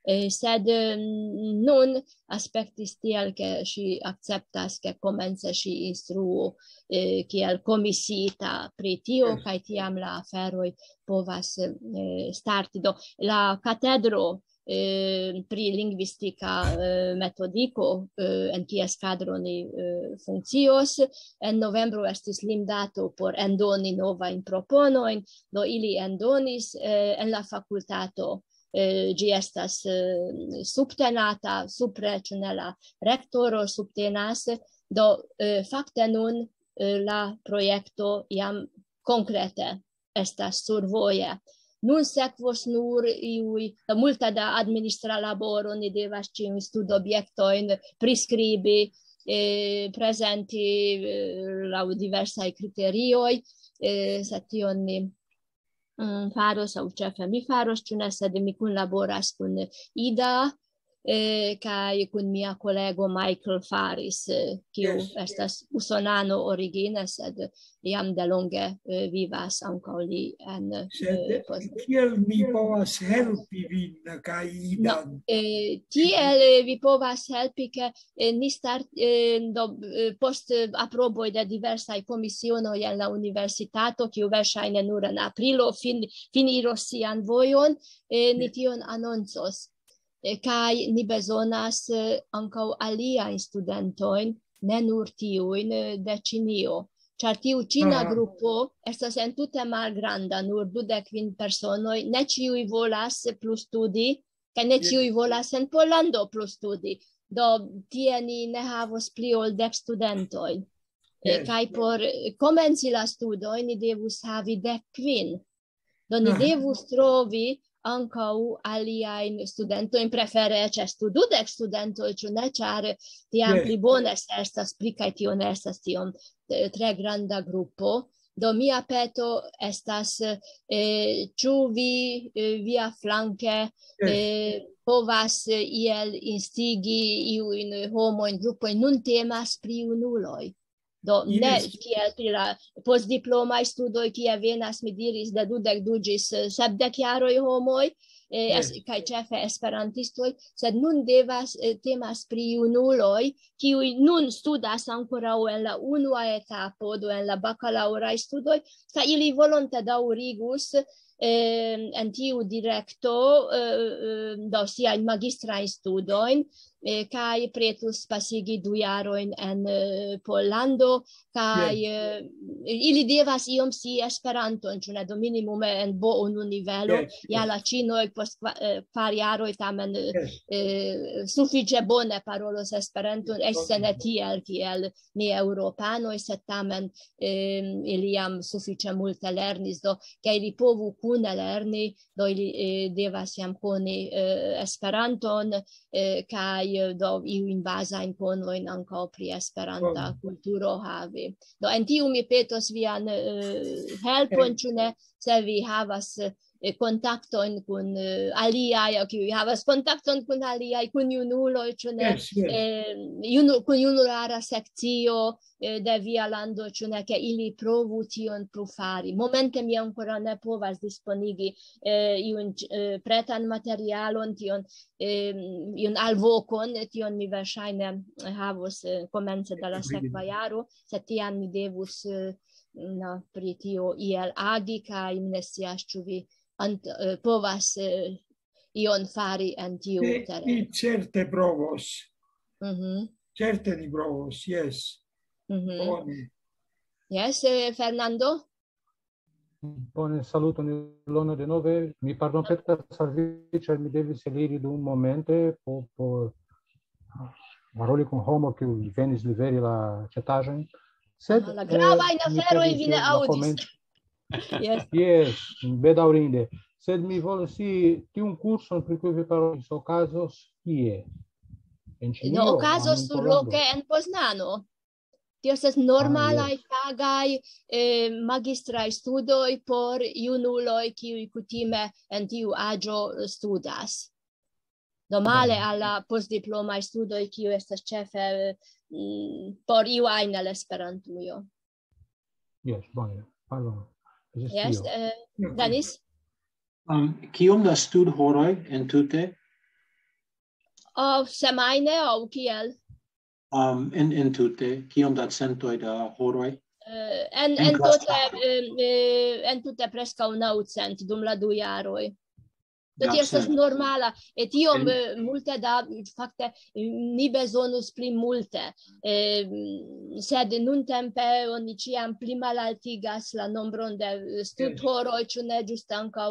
Eh, sed, eh, nun aspektis tiel, ke ŝi akceptas, ke komence ŝi instruu, eh, kiel komisiita pri tio, Yes. kaj tiam la aferoj povas, eh, starti. Do, la katedro, eh, pri lingvistika, eh, metodiko, eh, en kies kadro ni, eh, funkcios, en novembro estis limdato por endoni novajn proponojn, do ili endonis, eh, en la fakultato, eh, ĝi estas, eh, subtenata, supre, ĉu ne, la rektoro subtenas, do, eh, fakte nun, eh, la projekto jam konkrete estas survoje. Nun sekvos nur iuj, multe da administra laboro, ni devas ĉiujn studobjektojn priskribi, eh, prezenti, eh, laŭ diversaj kriterioj, eh, sed tion ni, mm, faros, aŭ ĉefe mi faros, ĉu ne, sed mi kunlaboras kun Ida, eh, kaj kun mia kolego Michael Faris, eh, kiu Yes. estas usonano origine, sed jam delonge, eh, vivas ankaŭ li en, Sed eh, Poznań. Kiel mi povas helpi vin kaj No, Idan? eh, tiel, eh, vi povas helpi, ke, eh, ni start-, eh, do, eh, post, eh, aproboj de diversaj komisionoj en la universitato, kiu verŝajne nur en aprilo fin-, finiros sian vojon, eh, ni Yes. tion anoncos. Eh, kaj ni bezonas, eh, ankaŭ aliajn studentojn, ne nur tiujn, eh, de Ĉinio. Ĉar tiu ĉina Aha. grupo estas entute malgranda, nur dudek kvin personoj, ne ĉiuj volas plu studi, kaj ne Yes. ĉiuj volas en Pollando plu studi. Do tie ni ne havos pli ol dek studentojn. Eh, Yes. Kaj por, eh, komenci la studojn ni devus havi dek kvin. Do ni Aha. devus trovi ankaŭ aliajn studentojn, prefere ĉestu dudek studentoj, ĉu ne? Ĉar tiam Yes. pli bone, se estas pli, kaj tio ne estas tiom, eh, tre granda grupo. Do mia peto estas, eh, ĉu vi, eh, via flanke, Yes. eh, povas, eh, iel instigi iujn homojn, grupojn, nun temas pri junuloj. Do ne kiel pri la postdiplomaj studoj, kie venas, mi diris, de dudek du ĝis sepdek jaroj homoj, eh, es-, kaj ĉefe esperantistoj, sed nun devas, eh, temas pri junuloj, kiuj nun studas ankoraŭ en la unua etapo, do en la bakalaŭraj studoj, kaj ili volonte daŭrigus, eh, en tiu direkto, eh, eh, do siajn magistrajn studojn, eh, kaj pretus pasigi du jarojn en, eh, Pollando, kaj, eh, ili devas iom scii Esperanton, ĉu ne, do minimume en B unu nivelo, ja la ĉinoj post kva-, eh, kvar jaroj tamen, eh, eh, sufiĉe bone parolos Esperanton, eĉ se ne tiel kiel ni eŭropanoj, sed tamen, eh, ili jam sufiĉe multe lernis, do ke ili povu kune lerni, do ili, eh, devas jam koni, eh, Esperanton, eh, kaj, eh, do iujn bazajn konojn ankaŭ pri Esperanta kulturo havi. Do en tiu mi petos vian, eh, helpon, ĉu ne, se vi havas, eh, kontaktojn kun, eh, aliaj, aŭ kiuj havas kontakton kun aliaj, kun junuloj, ĉu ne, eh, junu-, kun junulara sekcio, eh, de via lando, ĉu ne, ke ili provu tion plu fari. Momente mi ankoraŭ ne povas disponigi, eh, iun, eh, pretan materialon, tion, eh, iun alvokon, tion mi verŝajne havos, eh, komence de la sekva jaro, sed tiam mi devus, eh, na, pri tio iel agi, kaj mi ne scias, ĉu vi ant-, eh, povas, eh, ion fari en tiu tereno. Mi certe provos. Mhm. Certe ni provos, jes. Mhm. Bone. Jes, eh, Fernando? Bone, saluton, Ilona, denove. Mi pardonpetas al vi, ĉar mi devis eliri dum momente por, por paroli kun homo, kiu venis liveri la ĉetaĵojn. Sed, ah, la gravajn, eh, mi aferojn perdis vi ne la aŭdis. Komenc-, jes. Jes, bedaŭrinde. Sed mi volas scii tiun kurson, pri kiu vi parolis, okazos kie? En Ĉinio, no, okazos surloke en Poznano. Tio estas normalaj, ah, jes, pagaj, eh, magistraj studoj por junuloj, kiuj kutime en tiu aĝo studas. Do male al la postdiplomaj studoj, kiu estas ĉefe, mm, por iu ajn el Esperantujo. Jes, bone. Pardon. Jes, eh, Danis? Um, kiom da studhoroj en tute? O, semajne, aŭ kiel? Um, en, en tute, kiom da centoj da horoj? Eh, en, en tute, eh, eh, en tute preskaŭ naŭcent dum la du jaroj. Do tio estas normala, e tiom, eh, multe da, fakte, ni bezonus pli multe. Eh, sed nuntempe oni ĉiam pli malaltigas la nombron de, eh, studhoroj, ĉu ne, ĝuste ankaŭ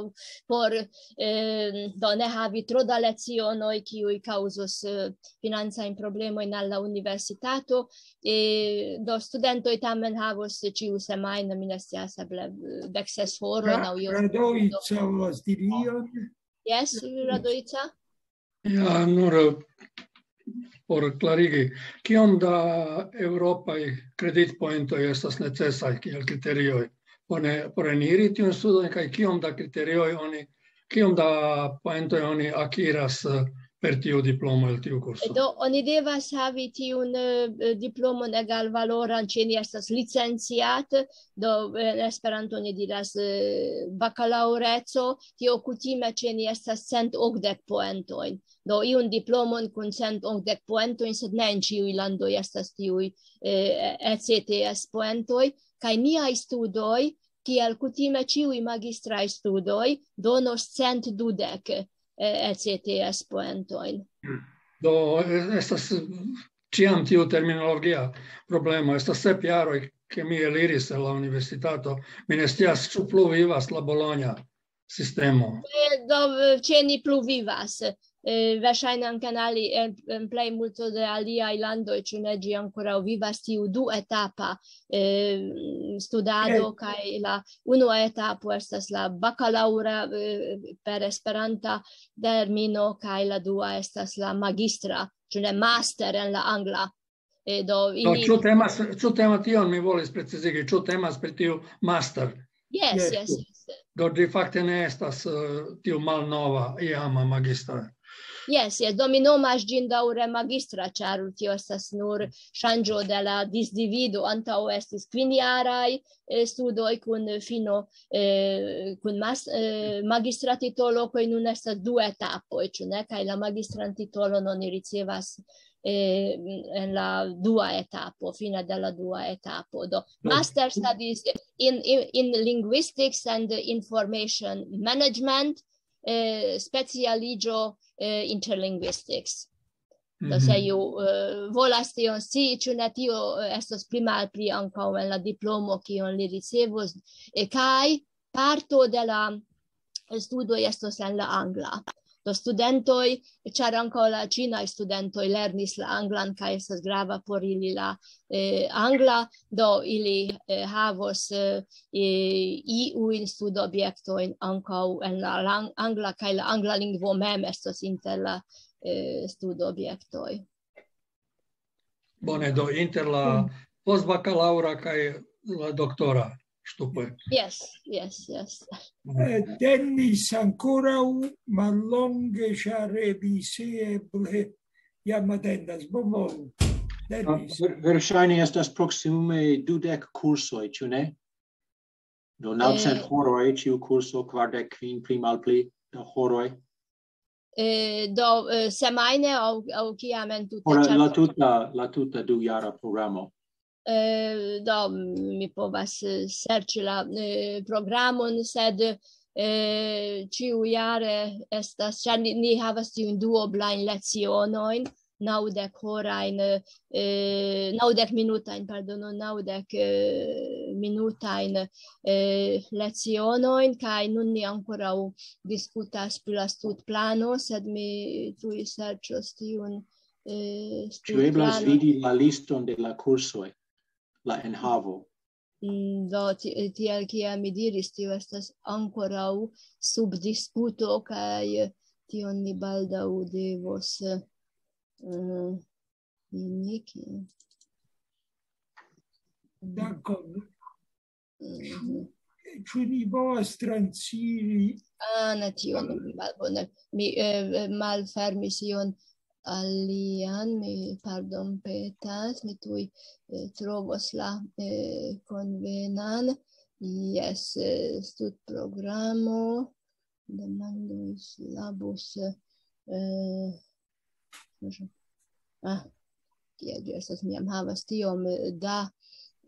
por, eh, do ne havi tro da lecionoj, kiuj kaŭzos, eh, financajn problemojn al la universitato. Eh, do studentoj tamen havos ĉiu semajno, mi ne scias, eble, eh, dek ses horojn aŭ iom. Radoica volas diri ion? Jes, Radoica? Ja, nur, eh, por klarigi, kiom da eŭropaj kreditpoentoj estas necesaj kiel kriterioj por ne, por eniri tiun studon, kaj kiom da kriterioj oni, kiom da poentoj oni akiras, eh, per tiu diplomo el tiu kurso? Do, oni devas havi tiun, eh, diplomon egalvaloran, ĉe ni estas licenciat, do, eh, en Esperanto oni diras, eh, bakalaŭreco, tio kutime ĉe ni estas cent okdek poentojn. Do, iun diplomon kun cent okdek poentojn, sed ne en ĉiuj landoj estas tiuj, eh, E C T S poentoj, kaj niaj studoj, kiel kutime ĉiuj magistraj studoj, donos cent dudek, eh, E C T S poentojn. Do, eh, estas, eh, ĉiam tiu terminologia problemo. Estas sep jaroj, ke mi eliris el la universitato. Mi ne scias, ĉu plu vivas la Bologna sistemo. Eh, do, eh, ĉe ni plu vivas. Eh, verŝajne ankaŭ en ali-, en, en plej multo de aliaj landoj, ĉu ne, ĝi ankoraŭ vivas tiu duetapa, eh, studado, kaj la unua etapo estas la bakalaŭra, eh, per Esperanta termino, kaj la dua estas la magistra, ĉu ne, master en la angla. Eh, do, do ili ĉu temas, ĉu temas, tion mi volis precizigi, ĉu temas pri tiu master? Jes, jes, jes. Do, ĝi fakte ne estas, eh, tiu malnova iama magistra. Jes, jes, do mi nomas ĝin daŭre magistra, ĉar tio estas nur ŝanĝo de la disdivido. Antaŭ estis kvinjaraj eh, studoj kun fino eh, kun mas, eh, magistra titolo, kaj nun estas du etapoj, ĉu ne? Kaj la magistran titolon oni ricevas eh, en la dua etapo, fine de la dua etapo. Do, master studies in, in, in linguistics and information management, eh, specialiĝo eh, interlinguistics. Do se iu eh, volas tion scii, ĉu ne, tio eh, estos pli malpli ankaŭ en la diplomo, kion li ricevos, eh, kaj parto de la studoj estos en la angla. Do studentoj, ĉar ankaŭ la ĉinaj studentoj lernis la anglan, kaj estas grava por ili la eh, angla, do ili eh, havos eh, eh, iujn studobjektojn ankaŭ en la lang-, angla, kaj la angla lingvo mem estos inter la eh, studobjektoj. Bone, do inter la postbakalaŭra kaj la doktora ŝtupoj. Jes, jes, jes. Eh, Dennis ankoraŭ mallonge, ĉar Elise eble jam atendas. Bonvolu. Dennis. Ver-, verŝajne estas proksimume dudek kursoj, ĉu ne? Do naŭcent horoj ĉiu kurso, kvardek kvin pli malpli da horoj. Eh, do eh, semajne aŭ, aŭ kiam entute? Por la Ĉar tuta, la tuta dujara programo. Eh, do mi povas eh, serĉi la eh, programon, sed eh, ĉiujare estas, ĉar ni, ni havas tiujn duoblajn lecionojn, naŭdek horajn, eh, naŭdek minutajn, pardono, naŭdek eh, minutajn eh, lecionojn, kaj nun ni ankoraŭ diskutas pri la studplano, sed mi tuj serĉos tiun eh, Ĉu eblas studplanon. Vidi la liston de la kursoj, la enhavo? Mm, Do, ti- tiel kiel mi diris, tio estas ankoraŭ sub diskuto, kaj tion ni baldaŭ devos eh, indiki. Dankon. Mhm. Ĉu ni povas transiri? Ah, ne, tion malbone. Mi eh, malfermis ion alian, mi pardon petas, mi tuj eh, trovos la eh, konvenan. Jes, eh, studprogramo, demandoj, syllabus, eh, ah, kiel ĝi estas, mi jam havas tiom eh, da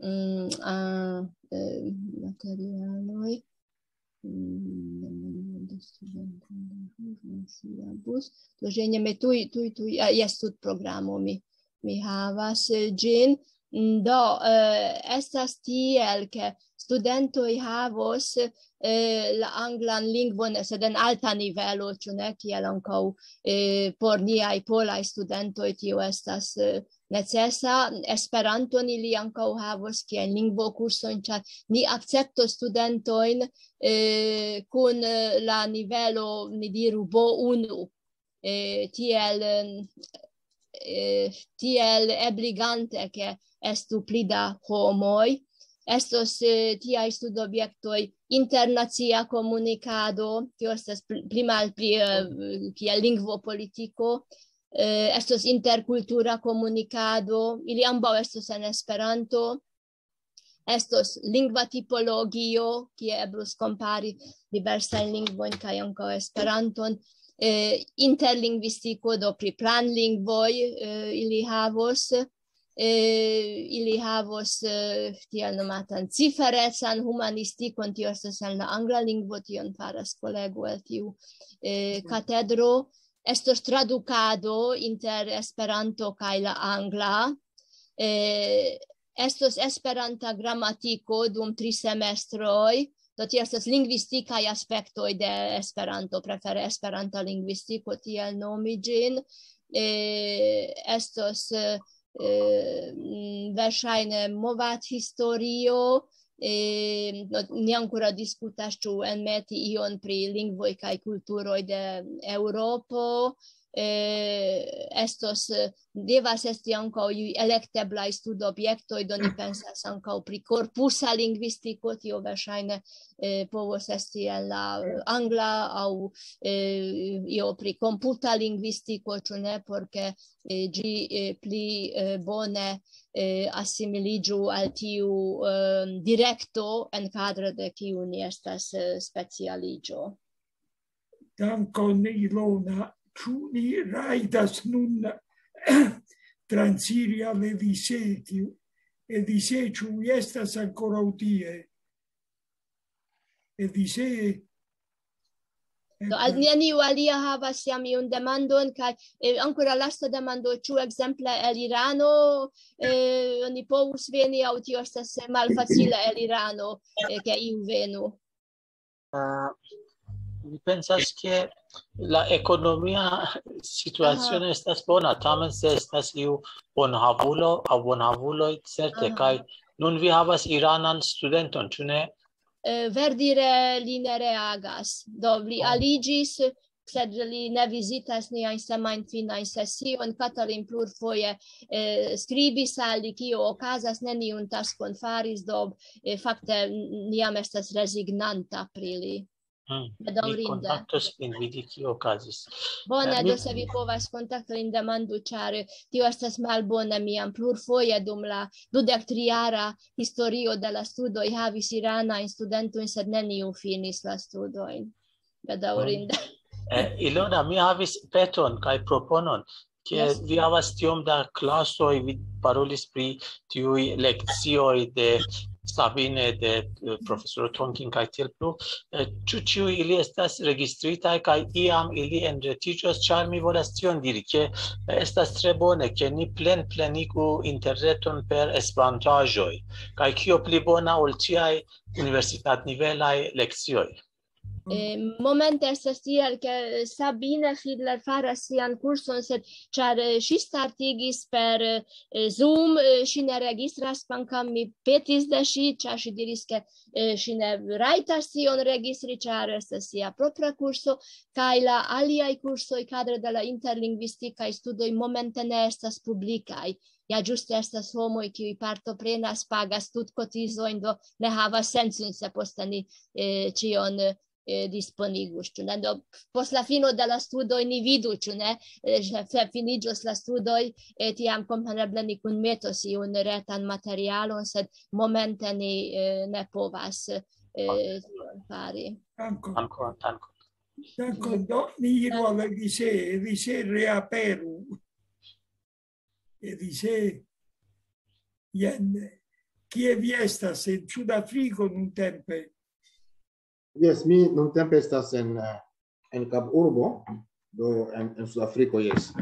mm, ah, eh, materialoj. Mm, demandoj de studentoj, syllabus. Do ĝenerale tuj, tuj, tuj, ah, jes, studprogramo mi, mi havas eh, ĝin. Mm, Do, eh, estas tiel, ke studentoj havos eh, la anglan lingvon, sed en alta nivelo, ĉu ne, kiel ankaŭ eh, por niaj polaj studentoj tio estas eh, necesa. Esperanton ili ankaŭ havos kiel lingvokursojn, ĉar ni akceptos studentojn eh, kun eh, la nivelo, ni diru, B unu. Eh, tiel, eh, tiel ebligante, ke estu pli da homoj. Estos eh, tiaj studobjektoj: internacia komunikado, tio estas pl- pli malpli eh, kiel lingvopolitiko, eh, estos interkultura komunikado, ili ambaŭ estos en Esperanto, estos lingva tipologio, kie eblus kompari diversajn lingvojn kaj ankaŭ Esperanton, eh, interlingvistiko, do pri planlingvoj eh, ili havos, eh, ili havos eh, tiel nomatan ciferecan humanistikon, tio estas en la angla lingvo, tion faras kolego el tiu eh, katedro. Estos tradukado inter Esperanto kaj la angla. Eh, estos Esperanta gramatiko dum tri semestroj. Do tio estas lingvistikaj aspektoj de Esperanto, prefere Esperanta lingvistiko, tiel nomi ĝin. Eh, estos eh, mm, verŝajne movadhistorio. Eh, no, ni ankoraŭ diskutas, ĉu enmeti ion pri lingvoj kaj kulturoj de Eŭropo. eh, estos, eh, devas esti ankaŭ iuj elekteblaj studobjektoj, do ni pensas ankaŭ pri korpusa lingvistiko, tio verŝajne, eh, povos esti en la angla aŭ, eh, io pri komputa lingvistiko, ĉu ne, por ke, eh, ĝi, eh, pli, eh, bone, eh, asimiliĝu al tiu, eh, direkto en kadro de kiu ni estas, eh, specialiĝo. Dankon, Ilona. Ĉu ni rajtas nun transiri al Elise? Tiu Elise, ĉu vi estas ankoraŭ tie? Elise? Do, al neniu alia havas jam iun demandon, kaj, eh, ankoraŭ lasta demando, ĉu ekzemple el Irano, eh, oni povus veni, aŭ tio estas malfacile el Irano, eh, ke iu venu? Ah, mi pensas, ke la ekonomia situacio Aha. Estas bona, tamen se estas iu bonhavulo aŭ bonhavuloj, certe, Aha. Kaj nun vi havas iranan studenton, ĉu ne? Eh, verdire li ne reagas. Do, li Oh. Aliĝis, sed li ne vizitas niajn semajnfinajn sesiojn. Katalin plurfoje, eh, skribis al li, kio okazas, neniun taskon faris, do, eh, fakte n-, ni jam estas rezignanta pri li. Hmm. Mi Bedaŭrinde. Kontaktos vin, vidi, kio okazis. Bone, Eh, mi- do se vi povas kontakti lin, demandu, ĉar tio estas malbone. Mi jam plurfoje dum la dudek tri jara historio de la studoj havis iranajn studentojn, sed neniu finis la studojn. Bedaŭrinde. Eh, Ilona, mi havis peton kaj proponon, ke Yes. Vi havas tiom da klasoj, vi parolis pri tiuj lekcioj de Sabine, de, eh, profesoro Tonkin kaj tiel plu. Eh, ĉu ĉiuj ili estas registritaj kaj iam ili enretiĝos, ĉar mi volas tion diri, ke, eh, estas tre bone, ke ni plenplenigu interreton per esperantaĵoj, kaj kio pli bona ol tiaj universitatnivelaj lekcioj? Eh, momente estas tiel, ke Sabine Fiedler faras sian kurson, sed ĉar, eh, ŝi startigis per, eh, Zoom, eh, ŝi ne registras, kvankam mi petis de ŝi, ĉar ŝi diris, ke, eh, ŝi ne rajtas tion registri, ĉar estas sia propra kurso, kaj la aliaj kursoj kadre de la interlingvistikaj studoj momente ne estas publikaj. Ja ĝuste estas homoj, kiuj partoprenas, pagas tutkotizojn, do ne havas sencon, se poste ni, eh, ĉion, eh, disponigus, ĉu ne? Do, post la fino de la studoj ni vidu, ĉu ne? Eh, se finiĝos la studoj, eh, tiam kompreneble ni kunmetos iun retan materialon, sed momente ni, eh, ne povas, eh, tion fari. Dankon. Dankon, dankon. Dankon. Do, ni iru al Elise. Elise, reaperu. Elise, jen, kie vi estas? En Sudafriko nuntempe? Jes, mi nuntempe estas en, eh, en Kap Urbo, do en, en Sudafriko, jes.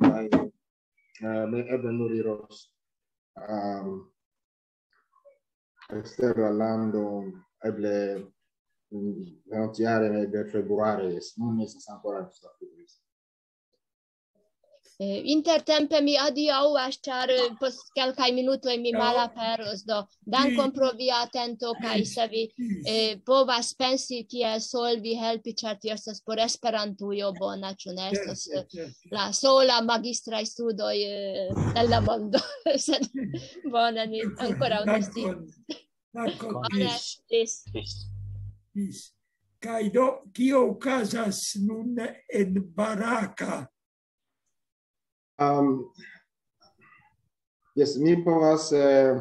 Kaj, eh, mi eble nur iros, ehm, ekster la lando, eble, mm, venontjare, eble februare, jes. Nun mi estas ankoraŭ en Sudafriko, jes. Eh, intertempe mi adiaŭas, ĉar, eh, post kelkaj minutoj mi Ciao. Malaperos, do dankon Ĝis. Pro via atento, kaj se vi, Ĝis. Eh, povas pensi, kiel solvi, helpi, ĉar tio estas por Esperantujo bona, ĉu ne? Estas, Certe, eh, certe. La sola magistraj studoj, eh, en la mondo. Sed bone, ni Dankon, ankoraŭ ne dankon. scias. Dankon, Bone, ĝis, ĝis. Ĝis. ĝis. Kaj do, kio okazas nun en Baraka? Um, jes, mi povas, eh,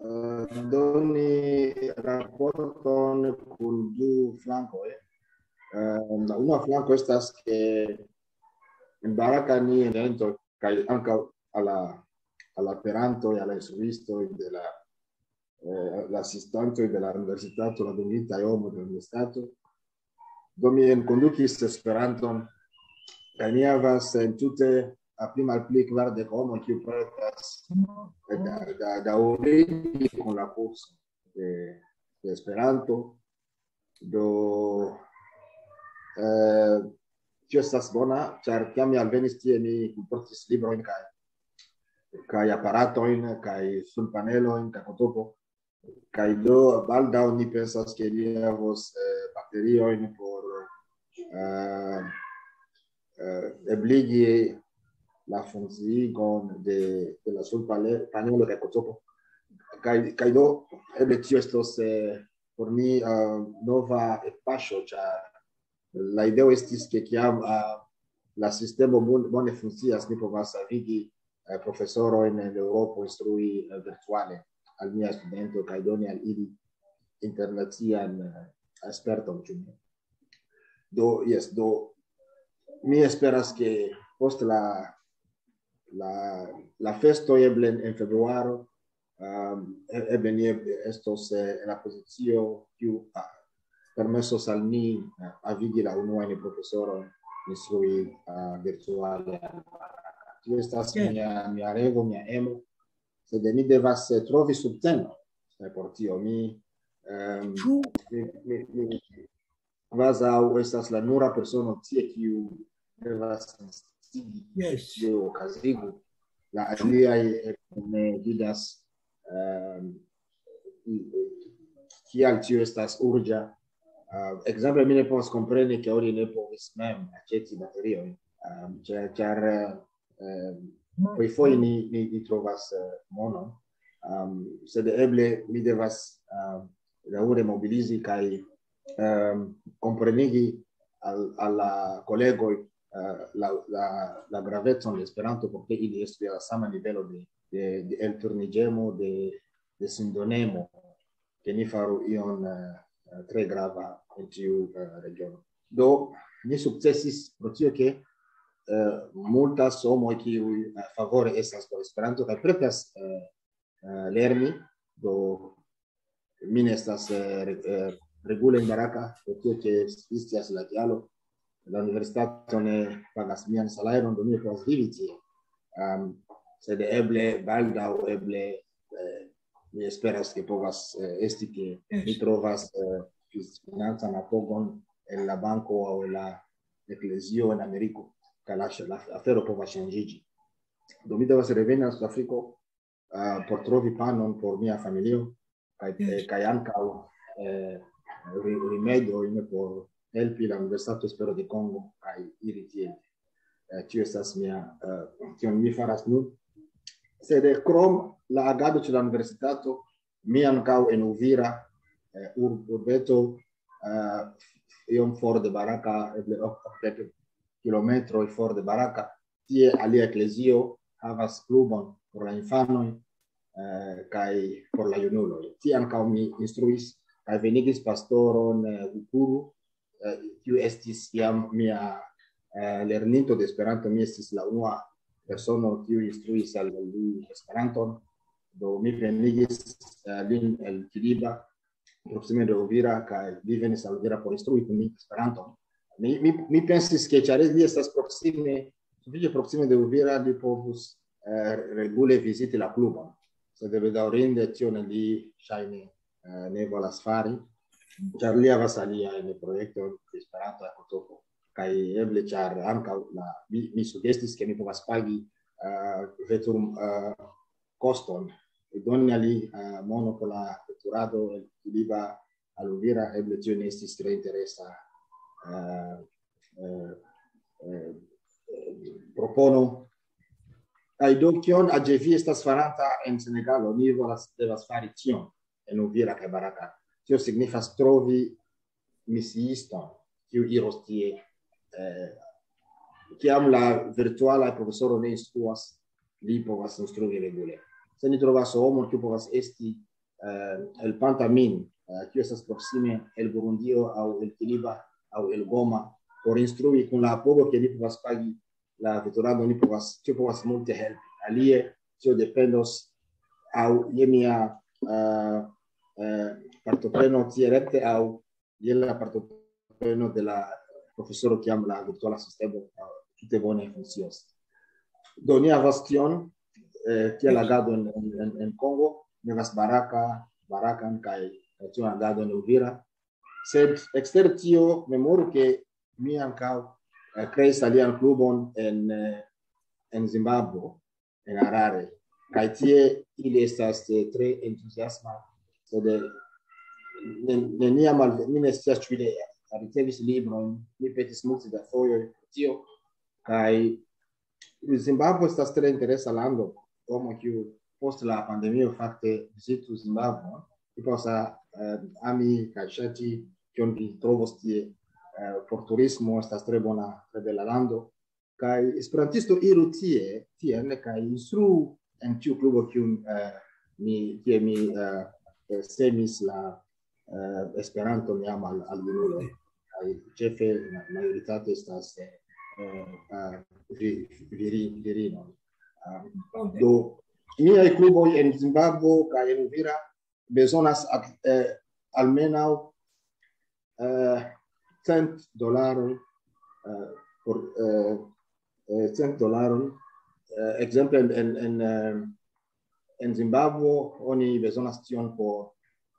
eh, doni raporton kun du flankoj. Eh, la unua flanko estas, ke en Baraka ni eventon, kaj ankaŭ al la, al la perantoj, al la instruistoj de la, eh, la asistantoj de la universitato, la dungitaj homoj de la universitato. Do mi enkondukis Esperanton, kaj ni havas entute a pli malpli kvardek homoj, kiu pretas, eh, da, da, daŭrigi kun la kurso de, de Esperanto. Do, eh, tio estas bona, ĉar kiam mi alvenis tie, mi kunportis librojn kaj, kaj aparatojn, kaj sunpanelojn, kaj fotopo. Kaj do baldaŭ ni pensas, ke ni havos, eh, bateriojn por, uh, uh, ebligi la funkciigon de, de la subpanelo kaj kotopo. Kaj, kaj do, eble tio estos eh, por ni uh, nova paŝo, ĉar la ideo estis, ke kiam uh, la sistemo bone funkcias, ni povas havigi uh, profesorojn en Eŭropo instrui uh, virtuale al nia studento kaj doni al ili internacian uh, sperton, ĉu ne? Do, jes, do mi esperas, ke post la, la, la festo eble en februaro, um, eble ni estos eh, en la pozicio kiu ah, permesos al ni eh, havigi la unuajn profesorojn instrui uh, virtuale. Tio estas mia, mia revo, mia emo, sed ni devas eh, trovi subteno eh, por tio. Mi, um, mi, mi, mi kvazaŭ estas la nura persono tie, kiu devas insigi, yes, kiu okazigu. La aliaj eh, ne vidas um, kial tio estas urĝa. Uh, ekzemple, mi ne povas kompreni, ke oni ne povis mem aĉeti bateriojn, um, ĉar, ĉar uh, pli foje ni, ni, ni trovas uh, monon, um, sed eble mi devas uh, daŭre mobilizi kaj um, komprenigi al, al la kolegoj uh, la, la, la gravecon de Esperanto, por ke ili estu je la sama nivelo de, de, de elturniĝemo, de, de sindonemo, ke ni faru ion uh, tre grava en tiu uh, regiono. Do, ni sukcesis pro tio, ke uh, multas homoj, kiuj uh, favore estas por Esperanto kaj pretas uh, uh, lerni, do mi ne estas uh, re, uh, regule en Baraka, pro tio, ke existas la kialo, la universitato ne pagas mian salajron, do mi ne povas vivi tie. Um, sed eble baldaŭ, eble eh, mi esperas, ke povas eh, esti, ke mi trovas eh, financan apogon en la banko aŭ en la eklezio en Ameriko, kaj la, la afero povas ŝanĝiĝi. Do mi devas reveni al Sudafriko uh, por trovi panon por mia familio, kaj, eh, kaj ankaŭ eh, rimedojn por helpi la Universitato Espero de Kongo kaj iri tiel. Eh, tio estas mia, eh, kion mi faras nun. Sed eh, krom la agado ĉe la universitato, mi ankaŭ en Uvira, eh, ur, urbeto, eh, iom for de Baraka, eble okdek kilometroj for de Baraka, tie alia eklezio havas klubon por la infanoj eh, kaj por la junuloj. Tie ankaŭ mi instruis kaj venigis pastoron eh, Gukuru, eh, kiu estis jam mia eh, lerninto de Esperanto, mi estis la unua persono kiu instruis al li Esperanton. Do mi venigis eh, lin el Kiliba, proksime de Uvira, kaj li venis al Uvira por instrui kun mi Esperanton. Mi, mi, mi pensis, ke ĉar li estas proksime, sufiĉe proksime de Uvira, li povus eh, regule viziti la klubon. Sed bedaŭrinde tion li ŝajne eh, ne volas fari, ĉar li havas aliajn projektojn pri Esperanto en Kotopo. Kaj eble, ĉar ankaŭ la, mi, mi sugestis, ke mi povas pagi uh, vetur uh, koston, doni al li uh, mono por la veturado el Kiliba al Uvira, eble tio ne estis tre interesa uh, uh, uh, propono. Kaj do, kion Ajevi estas faranta en Senegalo? Ni volas, devas fari tion en Uvira kaj Baraka. Tio signifas trovi misiiston, kiu iros tie. Eh, kiam la virtuala profesoro ne instruas, li povas instrui regule. Se ni trovas homon, kiu povas esti eh, helpanta min, eh, kiu estas proksime el Burundio aŭ el Kiliba aŭ el Goma, por instrui kun la apogo, ke ni povas pagi la veturado, ni povas, tio povas multe helpi. Alie, tio dependos aŭ je mia uh, uh, partopreno tie rekte aŭ je la partopreno de la profesoro, kiam la virtuala sistemo uh, tute bone funkcios. Do ni havas tion, eh, kiel agado en, en, en Kongo, ni havas Baraka, Barakan kaj tion agado en Uvira. Sed ekster tio, memoru, ke mi ankaŭ eh, kreis alian klubon en, eh, en Zimbabvo, en Harare. Kaj tie ili estas eh, tre entuziasma, sed eh, neniam, mi ne scias, ĉu ili ricevis librojn, mi petis multe da fojoj pro tio, kaj Zimbabvo estas tre interesa lando, homo kiu post la pandemio fakte vizitu Zimbabvo, mi povas, eh, ami kaj ŝati, kion vi trovos tie, eh, por turismo, estas tre bona, tre bela lando. Kaj esperantisto iru tie, tien, kaj instruu en tiu klubo, kiun, eh, mi, kie mi, eh, eh, semis la, eh, Esperanton jam al, al junuloj. Kaj ĉefe, ma-, majoritate estas, eh, eh, eh, vi-, viri-, virinoj. Ah, do, miaj kluboj en Zimbabvo kaj en Uvira bezonas at-, eh, almenaŭ, eh, cent dolaroj, eh, por, eh, eh, cent dolaroj. Eh, ekzemple en, en, en, eh, en Zimbabvo oni bezonas tion por,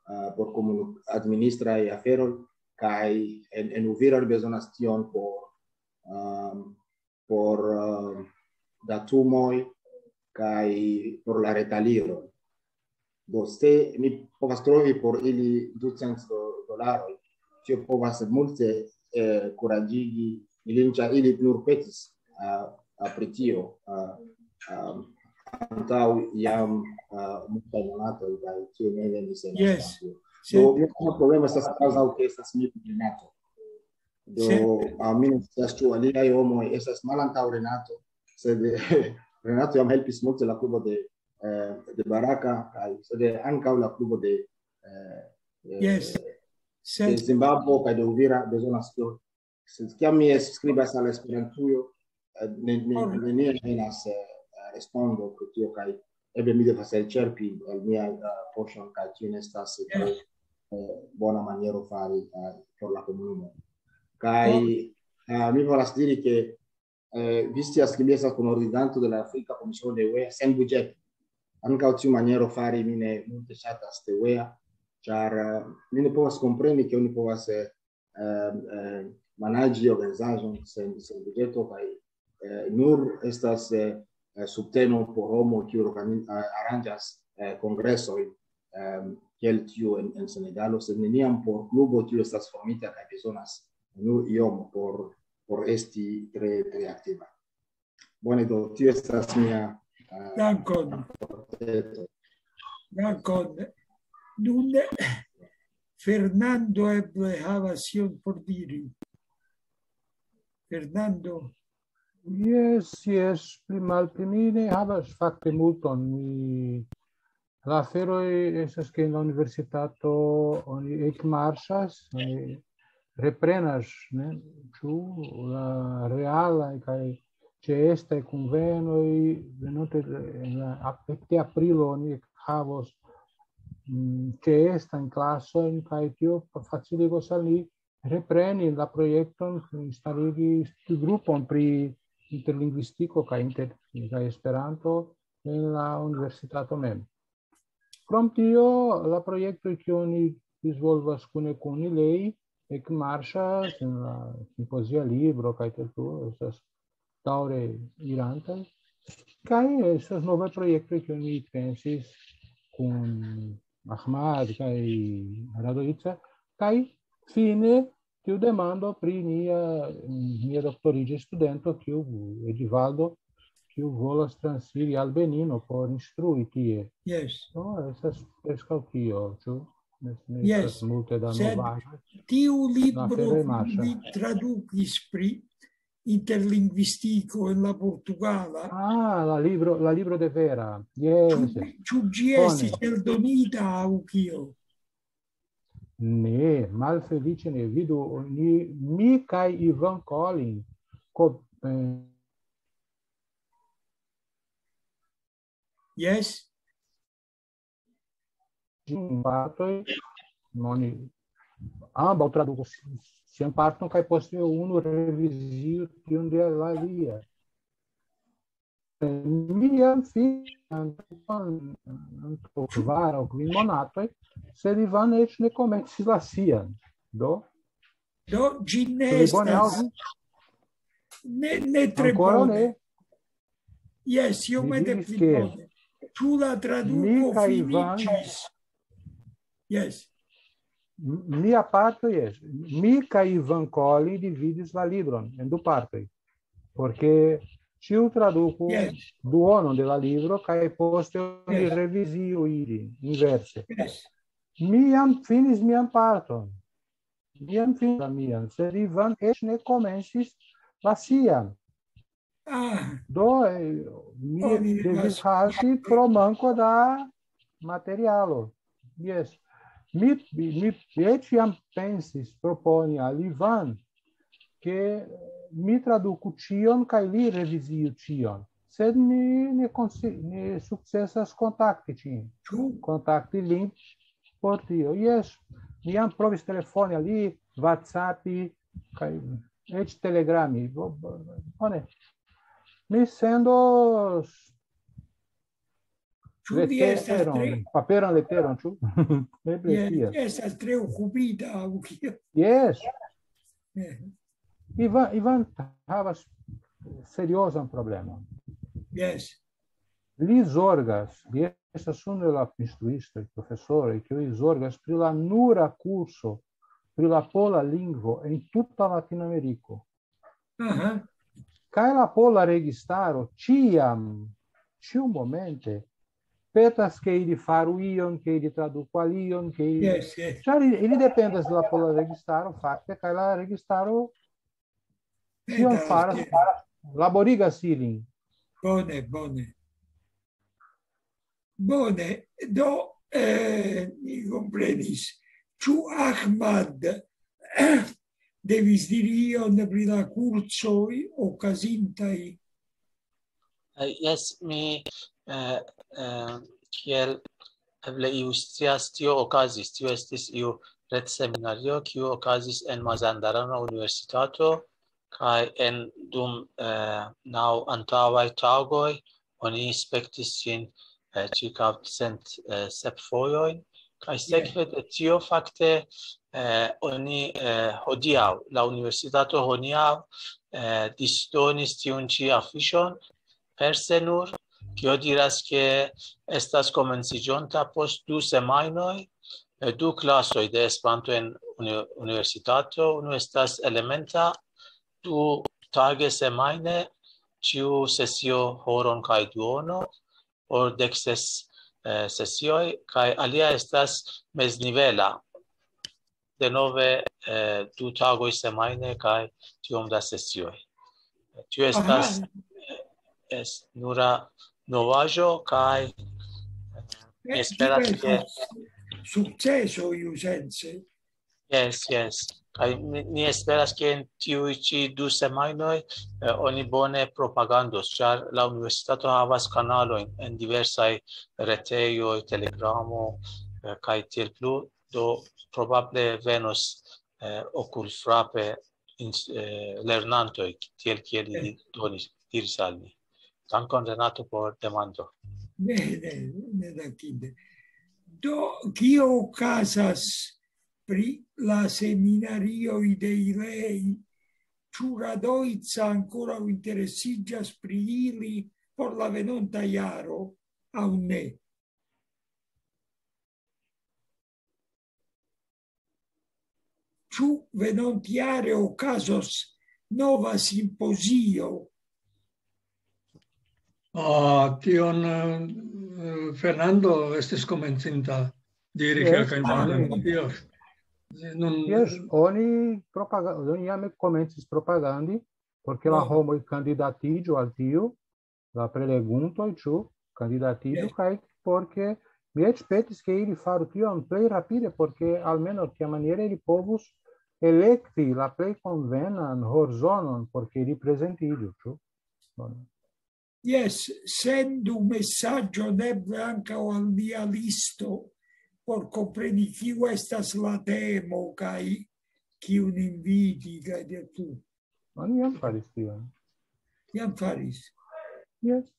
eh, por komunu-, administraj aferoj, kaj en, en Uvira oni bezonas tion por, ehm, por, ehm, datumoj kaj por la retaliro. Do, se mi povas trovi por ili ducent do-, dolaroj, tio povas multe, eh, kuraĝigi ilin, ĉar ili nur petis, ah, ah, pri tio, ah, ah, antaŭ jam, ah, multaj monatoj, kaj tio ne venis en Yes. Esperanto. Do, Sed mia problemo estas kvazaŭ ke estas mi Renato. Do, Sed ah, mi ne scias, ĉu aliaj homoj estas malantaŭ Renato, sed, Renato jam helpis multe la klubo de, eh, de Baraka, kaj sed ankaŭ la klubo de, eh, eh, Yes. de Sed Zimbabvo kaj de Uvira bezonas tio. Sed kiam mi skribas al Esperantujo, eh, ne-, ne-, Ora. neniam venas, eh, respondo pri tio, kaj eble mi devas elĉerpi el miaj, eh, poŝon, kaj tio ne estas, eh, Yes. eh, bona maniero fari, eh, por la komunumo. Kaj, Ora. eh, mi volas diri, ke, eh, vi scias, ke mi estas kunordiganto de la Afrika Komisiono de U E sen budĝeto. Ankaŭ tiu maniero fari mi ne multe ŝatas de U E, ĉar, eh, mi ne povas kompreni, ke oni povas, eh, eh, eh, manaĝi organizaĵon sen, sen budĝeto, kaj, eh, nur estas, eh, eh, subteno por homo, kiu organi-, eh, aranĝas, eh, kongresoj, ehm, kiel tiu en, en Senegalo, sed neniam por klubo, kiu estas formita kaj bezonas nur iom por, por esti tre, tre aktiva. Bone, do, tio estas mia, eh, Dankon. Portreto. Dankon. Nun Fernando eble havas ion por diri. Fernando. Jes, jes, pli malpli mi ne havas fakte multon. Mi, la aferoj estas, ke en la universitato oni ekmarŝas, oni reprenas, ne, ĉu la realaj kaj ĉeestaj kunvenoj, venonte en la ap-, ekde aprilo oni havos, mm, ĉeestajn klasojn, kaj tio faciligos al ni repreni la projekton, instaligi studgrupon pri interlingvistiko kaj inter-, kaj Esperanto en la universitato mem. Krom tio, la projektoj, kiujn ni disvolvas kune kun Ilei, ekmarŝas en la simpozia libro kaj tiel plu, estas daŭre irantaj. Kaj estas novaj projektoj, kiujn ni pensis kun Ahmad kaj Radoica, kaj fine tiu demando pri nia, nia doktoriĝa studento, kiu, Edivaldo, kiu volas transiri al Benino por instrui tie. Yes. No, estas preskaŭ tio, ĉu? Ne, ne Yes. estas multe da Sed novaĵoj. tiu La libro, afero marŝas. vi tradukis pri interlingvistiko en la portugala. Ah, la libro, la libro de Vera. Yes. Ĉu, ĉu ĝi Bone. estis eldonita aŭ kio? Ne, malfeliĉe ne. Vidu, ni, mi kaj Ivan Collin ko-, eh, Yes. ĝin partoj, oni ambaŭ tradukos sian parton kaj poste unu reviziu tiun de la alia. Mi jam fin-, antaŭ, antaŭ kvar aŭ kvin monatoj, sed Ivan eĉ ne komencis la sian. Do, Do, ĝi ne ĉu vi bone estas aŭdis? Ne, ne tre Ankoraŭ bone. ne? Jes, iomete Mi diris, pli ke bone. Ĉu la traduko mi kaj Ivan finiĝis? Jes. Mia parto, jes. Mi kaj Ivan Collin dividis la libron en du partoj. Porque ĉiu traduku duonon de la libro kaj poste oni reviziu ili inverse. Mi jam finis mian parton. Mi jam finis la mian, sed Ivan eĉ ne komencis la sian. Do, eh, mi devis halti pro manko da materialo. Jes. Mi, mi eĉ jam pensis proponi al Ivan, ke mi traduku ĉion kaj li reviziu ĉion. Sed mi ne konsi-, ne sukcesas kontakti ŝin. Kontakti lin por tio. Jes, mi jam provis telefoni al li, WhatsAppi, kaj eĉ telegrami. Bo-, bo-, bone. Mi sendos Ĉu vi estas leteron, tre paperan leteron, ĉu? Eble jes, tiel. Estas tre okupita, aŭ kio? Jes. Eh. Ivan, Ivan havas seriozan problemon. Jes. Li zorgas, li estas unu de la instruistoj, profesoroj, kiuj zorgas pri la nura kurso pri la pola lingvo en tuta Latinameriko. Aha. Kaj la pola registaro ĉiam, ĉiumomente, petas, ke ili faru ion, ke ili traduku alion, ke ili... Jes, jes. Ĉar ili, ili dependas de la pola registaro, fakte, kaj la registaro tion faras, jes, laborigas ilin. Bone, bone. Bone, do, eh, mi komprenis. Ĉu Ahmad devis diri ion pri la kursoj okazintaj? Eh, jes, mi, eh, eh, kiel eble iu scias, tio okazis, tio estis iu retseminario, kiu okazis en Mazandarana Universitato, kaj en dum, eh, naŭ antaŭaj tagoj oni spektis ĝin, eh, ĉirkaŭ cent, eh, sep fojojn, kaj sekve de tio fakte, eh, oni, eh, hodiaŭ, la universitato hodiaŭ, eh, disdonis tiun ĉi afiŝon perse nur, kio diras, ke estas komenciĝonta post du semajnoj, eh, du klasoj de Esperanto en uni-, universitato. Unu estas elementa, du tage semajne, ĉiu sesio horon kaj duono, por dek ses, eh, sesioj, kaj alia estas meznivela, denove, eh, du tagoj semajne kaj tiom da sesioj. Tio estas, aha, eh, es-, nura novaĵo, kaj, eh, mi esperas, ke sukceso iusence. Jes, jes. Kaj mi, mi esperas, ke en tiuj ĉi du semajnoj, eh, oni bone propagandos, ĉar la universitato havas kanalojn en diversaj retejoj, Telegramo, eh, kaj tiel plu. Do probable venos, eh, okulfrape ins-, eh, lernantoj, tiel kiel ili donis, diris al mi. Dankon, Renato, por demando. Ne, ne, ne, dankinde. Do, kio okazas pri la seminarioj de Ilei? Ĉu Radoica ankoraŭ interesiĝas pri ili por la venonta jaro, aŭ ne? Ĉu venontjare okazos nova simpozio? Ah, tion, eh, Fernando estis komencinta diri, jes, kelkajn vortojn pri tio. Nun, jes, oni propaga-, oni jam komencis propagandi, porque la homoj kandidatiĝu al tiu, la preleguntoj, ĉu kandidatiĝu, kaj porque mi eĉ petis, ke ili faru tion plej rapide, porque almenaŭ tiamaniere ili povus elekti la plej konvenan horzonon, porque ili prezentiĝu, ĉu? Bone. Jes, sendu mesaĝon eble ankaŭ al mia listo, por kompreni, kiu estas la temo, kaj kiun inviti, kaj de plu. Oni jam faris tion. Jam faris. Jes.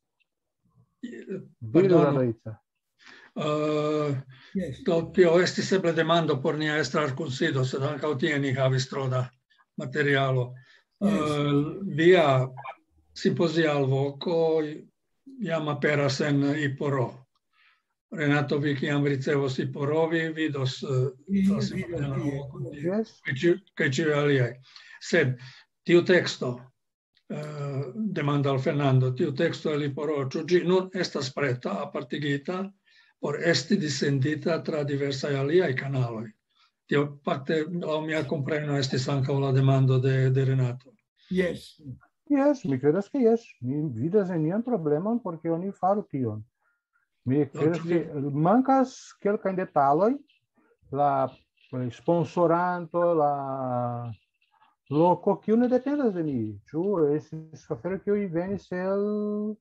Diru, pardonu. Radoica. Eh, jes. Do, tio estis eble demando por nia estra kunsido, sed ankaŭ tie ni havis tro da materialo. Jes. Eh, via simpozia alvoko jam aperas en Iporo. Renato, vi kiam ricevos i porovi, vidos, eh, Mi la vido la tie. lokon tie, Yes. kaj ĉi-, kaj ĉiuj aliaj. Sed tiu teksto, eh, demando al Fernando, tiu teksto el i poro, ĉu ĝi nun estas preta, apartigita, por esti dissendita tra diversaj aliaj kanaloj? Tio fakte, laŭ mia kompreno, estis ankaŭ la demando de, de Renato. Yes. Yes, mi credas ke yes. Mi vidas nenian problemon, porque oni faru tion. Mi credas ĉu ke mankas kelkajn detaloj, la sponsoranto, la loko, kiu ne dependas de mi. Ĉu estis afero, kiu venis el,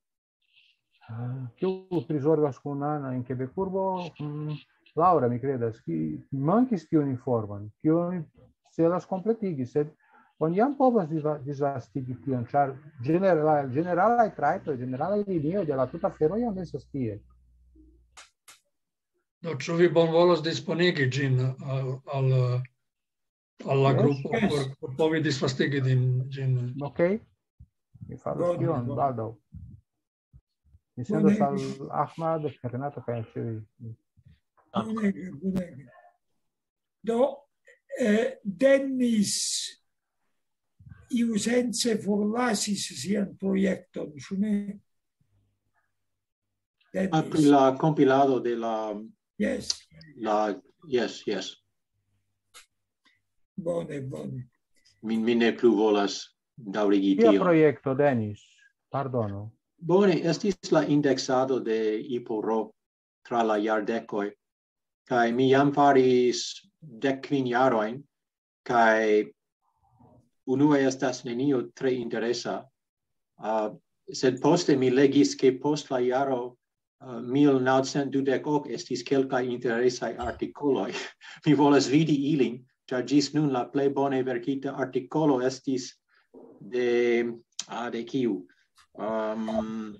ah, kiu prizorgas kun Ana en Quebec urbo? Mm, Laura, mi credas, ki mankis tiun informon, kiun celas kompletigi, sed oni jam povas disva-, disvastigi tion, ĉar ĝenerala-, ĝeneralaj trajtoj, ĝeneralaj linioj de la tuta afero jam estas tie. Do, ĉu vi bonvolos disponigi ĝin al, al, al la Yes. grupo Yes. por, por povi disvastigi din ĝin? Ok? Mi faros Bone, tion bone. baldaŭ. Mi sendas Bone. Al Ahmad, Renato kaj ĉiuj. Bonege, bonege. Do, eh, Dennis iusence forlasis sian projekton, ĉu ne? Ah, pri Dennis. la kompilado de la, Yes, la, yes, yes. Bone, bone. Mi, mi ne plu volas daŭrigi Kia tion. Projekto, Denis? Pardonu. Bone, estis la indeksado de iporo tra la jardekoj, kaj mi jam faris dek kvin jarojn, kaj unue estas nenio tre interesa, ah, sed poste mi legis, ke post la jaro, ah, mil naŭcent dudek ok estis kelkaj interesaj artikoloj. Mi volas vidi ilin, ĉar ĝis nun la plej bone verkita artikolo estis de, ah, de kiu? Um,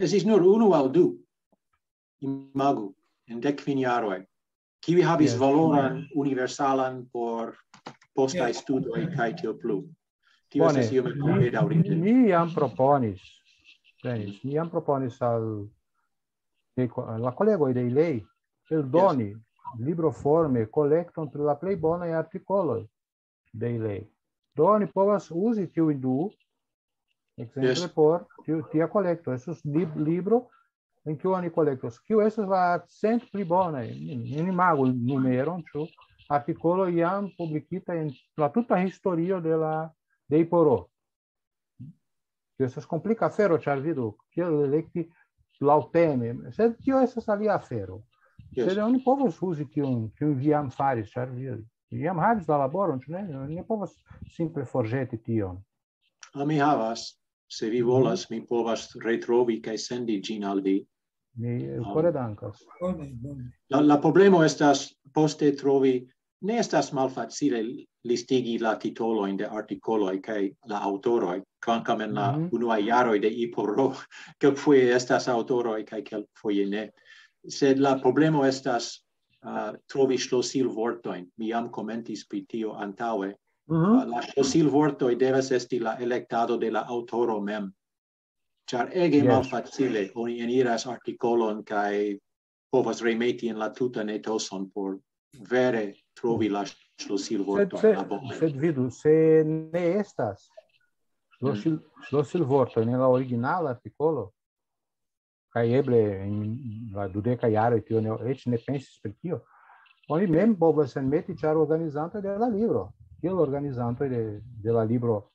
estis nur unu aŭ du, imagu, en dek kvin jaroj, kiuj havis Yes. valoran universalan por postaj Yes. studoj kaj tiel plu. Tio Bone, estas iomete mi, bedaŭrinde. Mi jam proponis, Denis, mi jam proponis al de ko-, la kolegoj de ilei eldoni libroforme kolekton pri la plej bonaj artikoloj de ilei. Do oni povas uzi tiujn du, ekzemple, Yes. Por tiu, tia kolekto. Estus lib-, libro en kiu oni kolektos. Kiu estas la cent pli bonaj? Ni, ni imagu numeron, ĉu artikolo jam publikita en la tuta historio de la, de iporo. Tio estas komplika afero, ĉar vidu, kiel elekti laŭteme. Sed tio estas alia afero. Yes. Sed oni povas uzi tiun, kiun vi jam faris, ĉar vi, vi jam havis la laboron, ĉu ne? Oni ne povas simple forĵeti tion. Ah, mi havas, se vi volas, mi povas retrovi kaj sendi ĝin al vi. Mi Ah. Kore dankas. Bone, bone. La, la problemo estas poste trovi, ne estas malfacile listigi la titolojn de artikoloj kaj la aŭtoroj, kvankam en la Mhm. unuaj jaroj de iporo kelkfoje estas aŭtoroj kaj kelkfoje ne. Sed la problemo estas, ah, trovi ŝlosilvortojn. Mi jam komentis pri tio antaŭe. Mhm. Ah, la ŝlosilvortoj devas esti la elektado de la aŭtoro mem. Ĉar ege Yes. Malfacile oni eniras artikolon kaj povas remeti en la tutan etoson por vere trovi la ŝlosilvortojn, Sed, se, la bonajn. Sed vidu, se ne estas ŝlosil-, ŝlosilvortoj en la originala artikolo, kaj eble en la dudeka jaroj tio ne, eĉ ne pensis pri tio, oni mem povas enmeti, ĉar organizantoj de la libro, kiel organizantoj de, de la libro,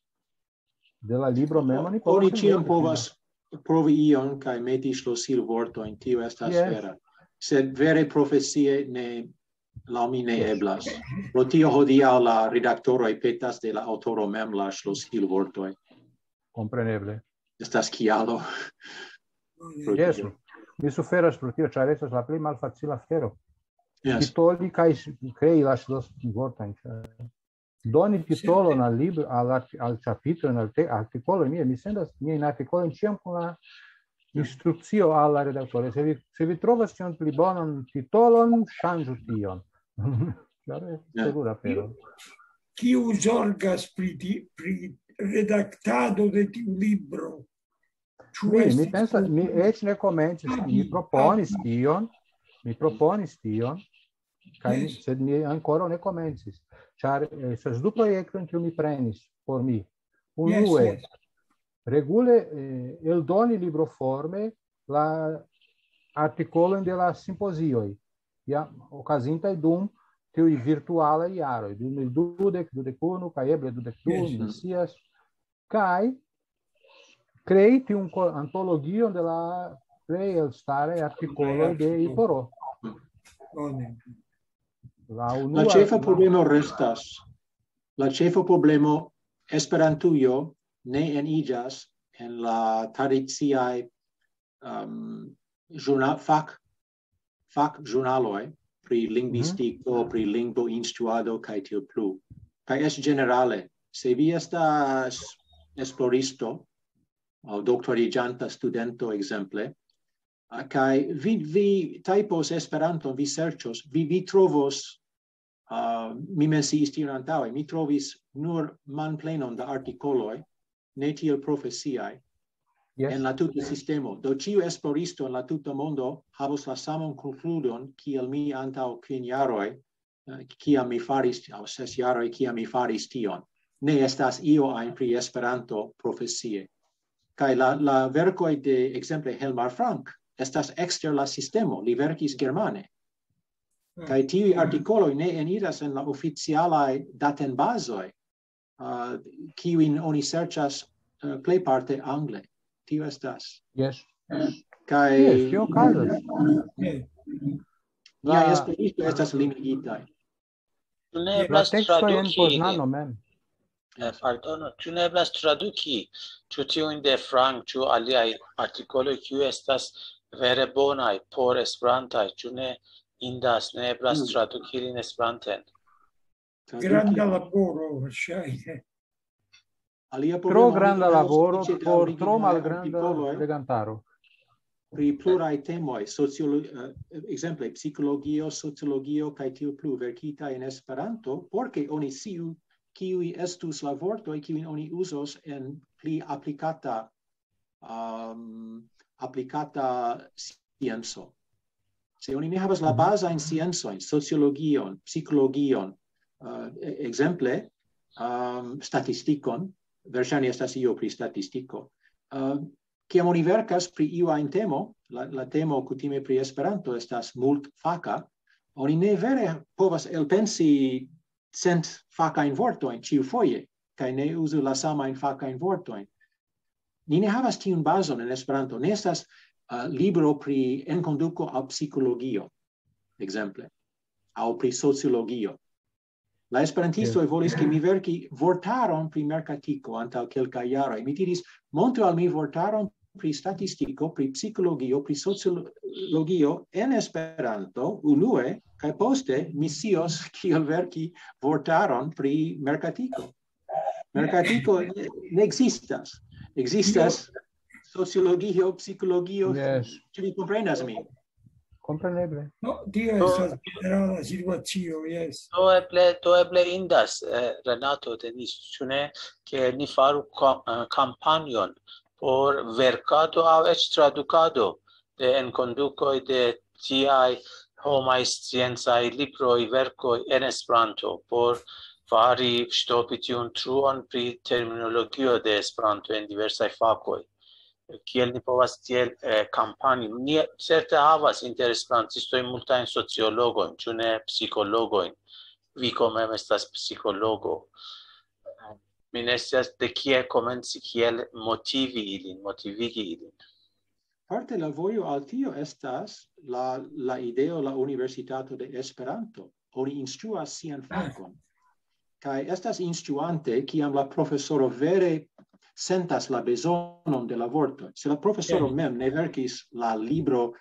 de la libro mem, oni Oni povas ĉiam enmeti povas provi ion kaj meti ŝlosilvortojn, tio estas Yes. vera. Sed vere profesie ne, laŭ mi ne Yes. eblas. Pro tio hodiaŭ la redaktoroj petas de la aŭtoro mem la ŝlosilvortoj. Kompreneble. Estas kialo. Yes. Mi suferas pro tio, ĉar estas la plej malfacila afero. Yes. Titoli kaj s-, krei la ŝlosilvortojn, ĉar doni titolon al libro, al art-, al ĉapitro, al te-, artikolo, mi, mi sendas miajn artikolojn ĉiam kun la instrukcio al la redaktoro. Se vi, se vi trovas tiun pli bonan titolon, ŝanĝu tion. Ĉar estas Ja. terura afero. Kiu zorgas pri ti-, pri redaktado de tiu libro? Mi, mi pensas, mi eĉ ne komencis, mi proponis tion, mi proponis tion, kaj mi, sed mi ankoraŭ ne komencis, ĉar estas du projektoj, kiu mi prenis por mi. Unue, regule eh, eldoni libroforme la artikolojn de la simpozioj, ja, okazintaj dum tiuj virtualaj jaroj, du mil dudek, dudek unu, kaj eble dudek du, mi scias, kaj krei tiun ko-, antologion de la plej elstaraj artikoloj de Iporo. La unua, la ĉefa problemo restas. La ĉefa problemo, Esperantujo ne eniĝas en la tradiciaj, um, ĵurna-, fak-, fakĵurnaloj pri lingvistiko, pri lingvoinstruado kaj tiel plu. Kaj eĉ ĝenerale, se vi estas esploristo aŭ doktoriĝanta studento, ekzemple, a, kaj vi, vi tajpos Esperanton, vi serĉos, vi, vi trovos, a, mi menciis tion antaŭe, mi trovis nur manplenon da artikoloj, ne tiel profesiaj, en la tuta sistemo. Do ĉiu esploristo en la tuta mondo havos la saman konkludon kiel mi antaŭ kvin jaroj, eh, kiam mi faris, aŭ ses jaroj, kiam mi faris tion. Ne estas io ajn pri Esperanto profesie. Kaj la, la verkoj de, ekzemple, Helmar Frank estas ekster la sistemo, li verkis germane. Kaj tiuj artikoloj ne eniras en la oficialaj datenbazoj, uh, kiujn oni serĉas, uh, plejparte angle. Tio estas. Yes. Kaj Yes, tio okazas. niaj esploristo estas limigitaj. Ĉu ne La eblas tekstoj en traduki Poznano ilin? Mem. Eh, Pardono, ĉu ne eblas traduki, ĉu tiujn de Frank, ĉu aliaj artikoloj, kiuj estas vere bonaj por Esperantaj, ĉu ne indas, ne eblas Mm. traduki ilin Esperanten? Traduki. Granda laboro, verŝajne. Alia Tro problemo, granda oni laboro havas ĉe la por originalaj tro malgranda artikoloj legantaro. Pri pluraj temoj, sociolo-, eh, ekzemple, psikologio, sociologio kaj tiu plu, verkita en Esperanto, por ke oni sciu kiuj estus la vortoj, kiujn oni uzos en pli aplikata, um, aplikata scienco. Se oni ne havas la bazajn sciencojn, sociologion, psikologion, uh, e-, ekzemple, um, statistikon, verŝajne estas io pri statistiko, uh, kiam oni verkas pri iu ajn temo, la, la temo kutime pri Esperanto estas multfaka, oni ne vere povas elpensi cent fakajn vortojn ĉiufoje, kaj ne uzu la samajn fakajn vortojn. Ni ne havas tiun bazon en Esperanto. Ne estas, uh, libro pri enkonduko aŭ psikologio, ekzemple, aŭ pri sociologio. La esperantistoj volis, ke mi verki vortaron pri merkatiko antaŭ kelkaj jaroj. Mi diris, montru al mi vortaron pri statistiko, pri psikologio, pri sociologio en Esperanto, unue, kaj poste mi scios kiel verki vortaron pri merkatiko. Merkatiko ne, ne ekzistas. Ekzistas sociologio, psikologio. Yes. Ĉu vi komprenas min? Kompreneble. No, tio estas ĝenerala situacio, yes. Do eble, do eble indas, eh, Renato, Denis, ĉu ne, ke ni faru ka-, eh, kampanjon por verkado aŭ eĉ tradukado de enkondukoj de tiaj homaj sciencaj libroj, verkoj en Esperanto, por fari, ŝtopi tiun truon pri terminologio de Esperanto en diversaj fakoj. Kiel ni povas tiel, eh, kampanji? Ni certe havas inter esperantistoj multajn sociologojn, ĉu ne psikologojn? Vi komem estas psikologo. Mi ne scias de kie komenci, kiel motivi ilin, motivigi ilin. Parte la vojo al tio estas la, la ideo, la Universitato de Esperanto. Oni instruas sian fakon. Kaj estas instruante, kiam la profesoro vere sentas la bezonon de la vorto. Se la profesoro mem ne verkis la libro,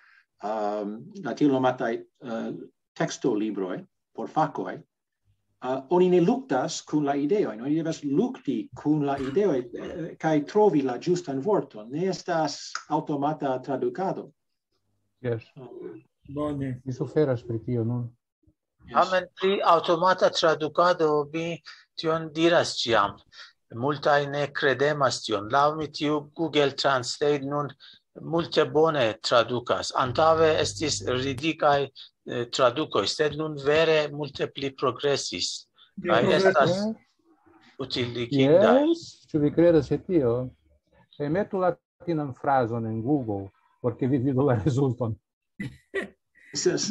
um, la tiel nomataj, uh, tekstolibroj por fakoj, uh, oni ne luktas kun la ideoj, oni devas lukti kun la ideoj, eh, kaj trovi la ĝustan vorton. Ne estas aŭtomata tradukado. Yes. Bone. Mi suferas pri tio nun. Tamen pri aŭtomata tradukado mi tion diras ĉiam. Multaj ne kredemas tion. Laŭ mi tiu Google Translate nun multe bone tradukas. Antaŭe estis ridigaj eh, tradukoj, sed nun vere multe pli progresis. Kaj estas utiligindaj. Yes, ĉu vi kredas je tio? Kaj metu latinan frazon en Google, por ke vi vidu la rezulton.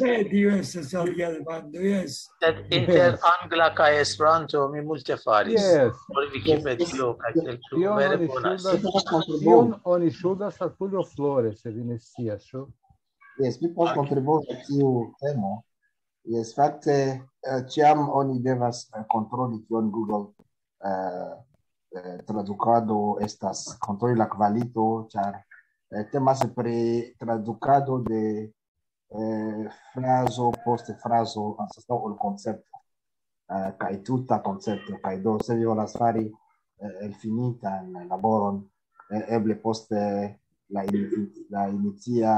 Ne, tio estas alia demando, yes. Sed inter angla kaj Esperanto mi multe faris. Yes. Por Wikipedio kaj tiel plu Tion vere oni bonas. ŝuldas, tion oni ŝuldas al Tulio Flores, se vi ne scias, ĉu? Jes, mi povas kontribui al tiu temo. Jes, fakte, eh, ĉiam oni devas eh, kontroli kion Google eh, eh, tradukado estas, kontroli la kvalito, ĉar eh, temas pri tradukado de eh, frazo poste frazo anstataŭ ol koncepto. Eh, kaj tuta koncepto, kaj do se vi volas fari eh, elfinitan laboron, eh, eble poste la, in, la inicia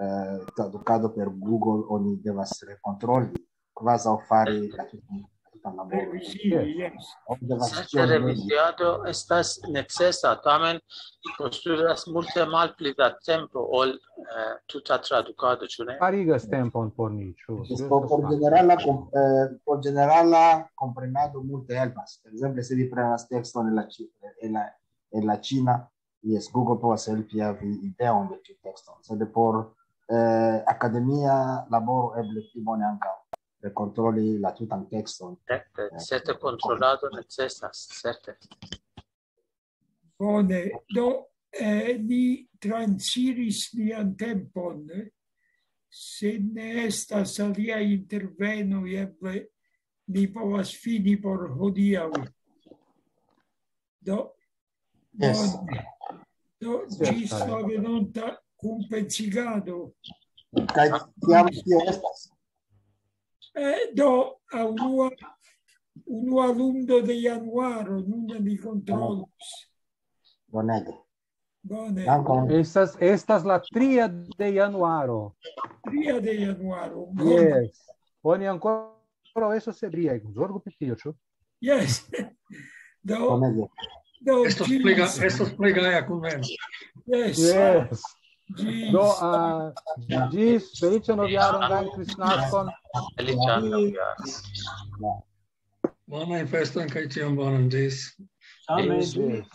eh, tradukado per Google oni devas rekontroli, kvazaŭ fari la tutan la tutan laboron. Revizii, yes. Oni devas Certe ĉion reviziado estas necesa, tamen postulas multe malpli da tempo ol eh, tuta tradukado, ĉu ne? Farigas tempon por ni, ĉu? Jes, por, por ĝenerala kom- eh, por ĝenerala komprenado multe helpas. Ekzemple, se vi prenas tekston el la, ĉi- el la, el la ĉina, jes, Google povas helpi havi ideon de tiu tekston. Sed por eh, akademia laboro eble pli bone ankaŭ rekontroli la tutan tekston. Certe, certe kontrolado necesas, certe. Bone, do eh, ni transiris nian tempon. Se ne estas alia interveno, eble ni povas fini por hodiaŭ. Do, Yes. bone. Do, ĝis la venonta kunpensigado. Kaj kiam tio estas? Eh, do, a unua, unua lundo de januaro, nun ni kontrolos. Bonege. Bone. Dankon. Estas, estas la tria de januaro. Tria de januaro. Bone. Yes. Oni ankoraŭ estos ebriaj. Zorgu pri tio, ĉu? Yes. Do, Bonege. do, Estos plej ga- ĝis, estos plej gaja kunveno. yes. Yes. Ĝis, Do, uh, ĝis feliĉan novjaron, gran kristnaskon. Feliĉan novjaron. Bonajn festojn kaj ĉion bonan. Ĝis. Same, Ĝis.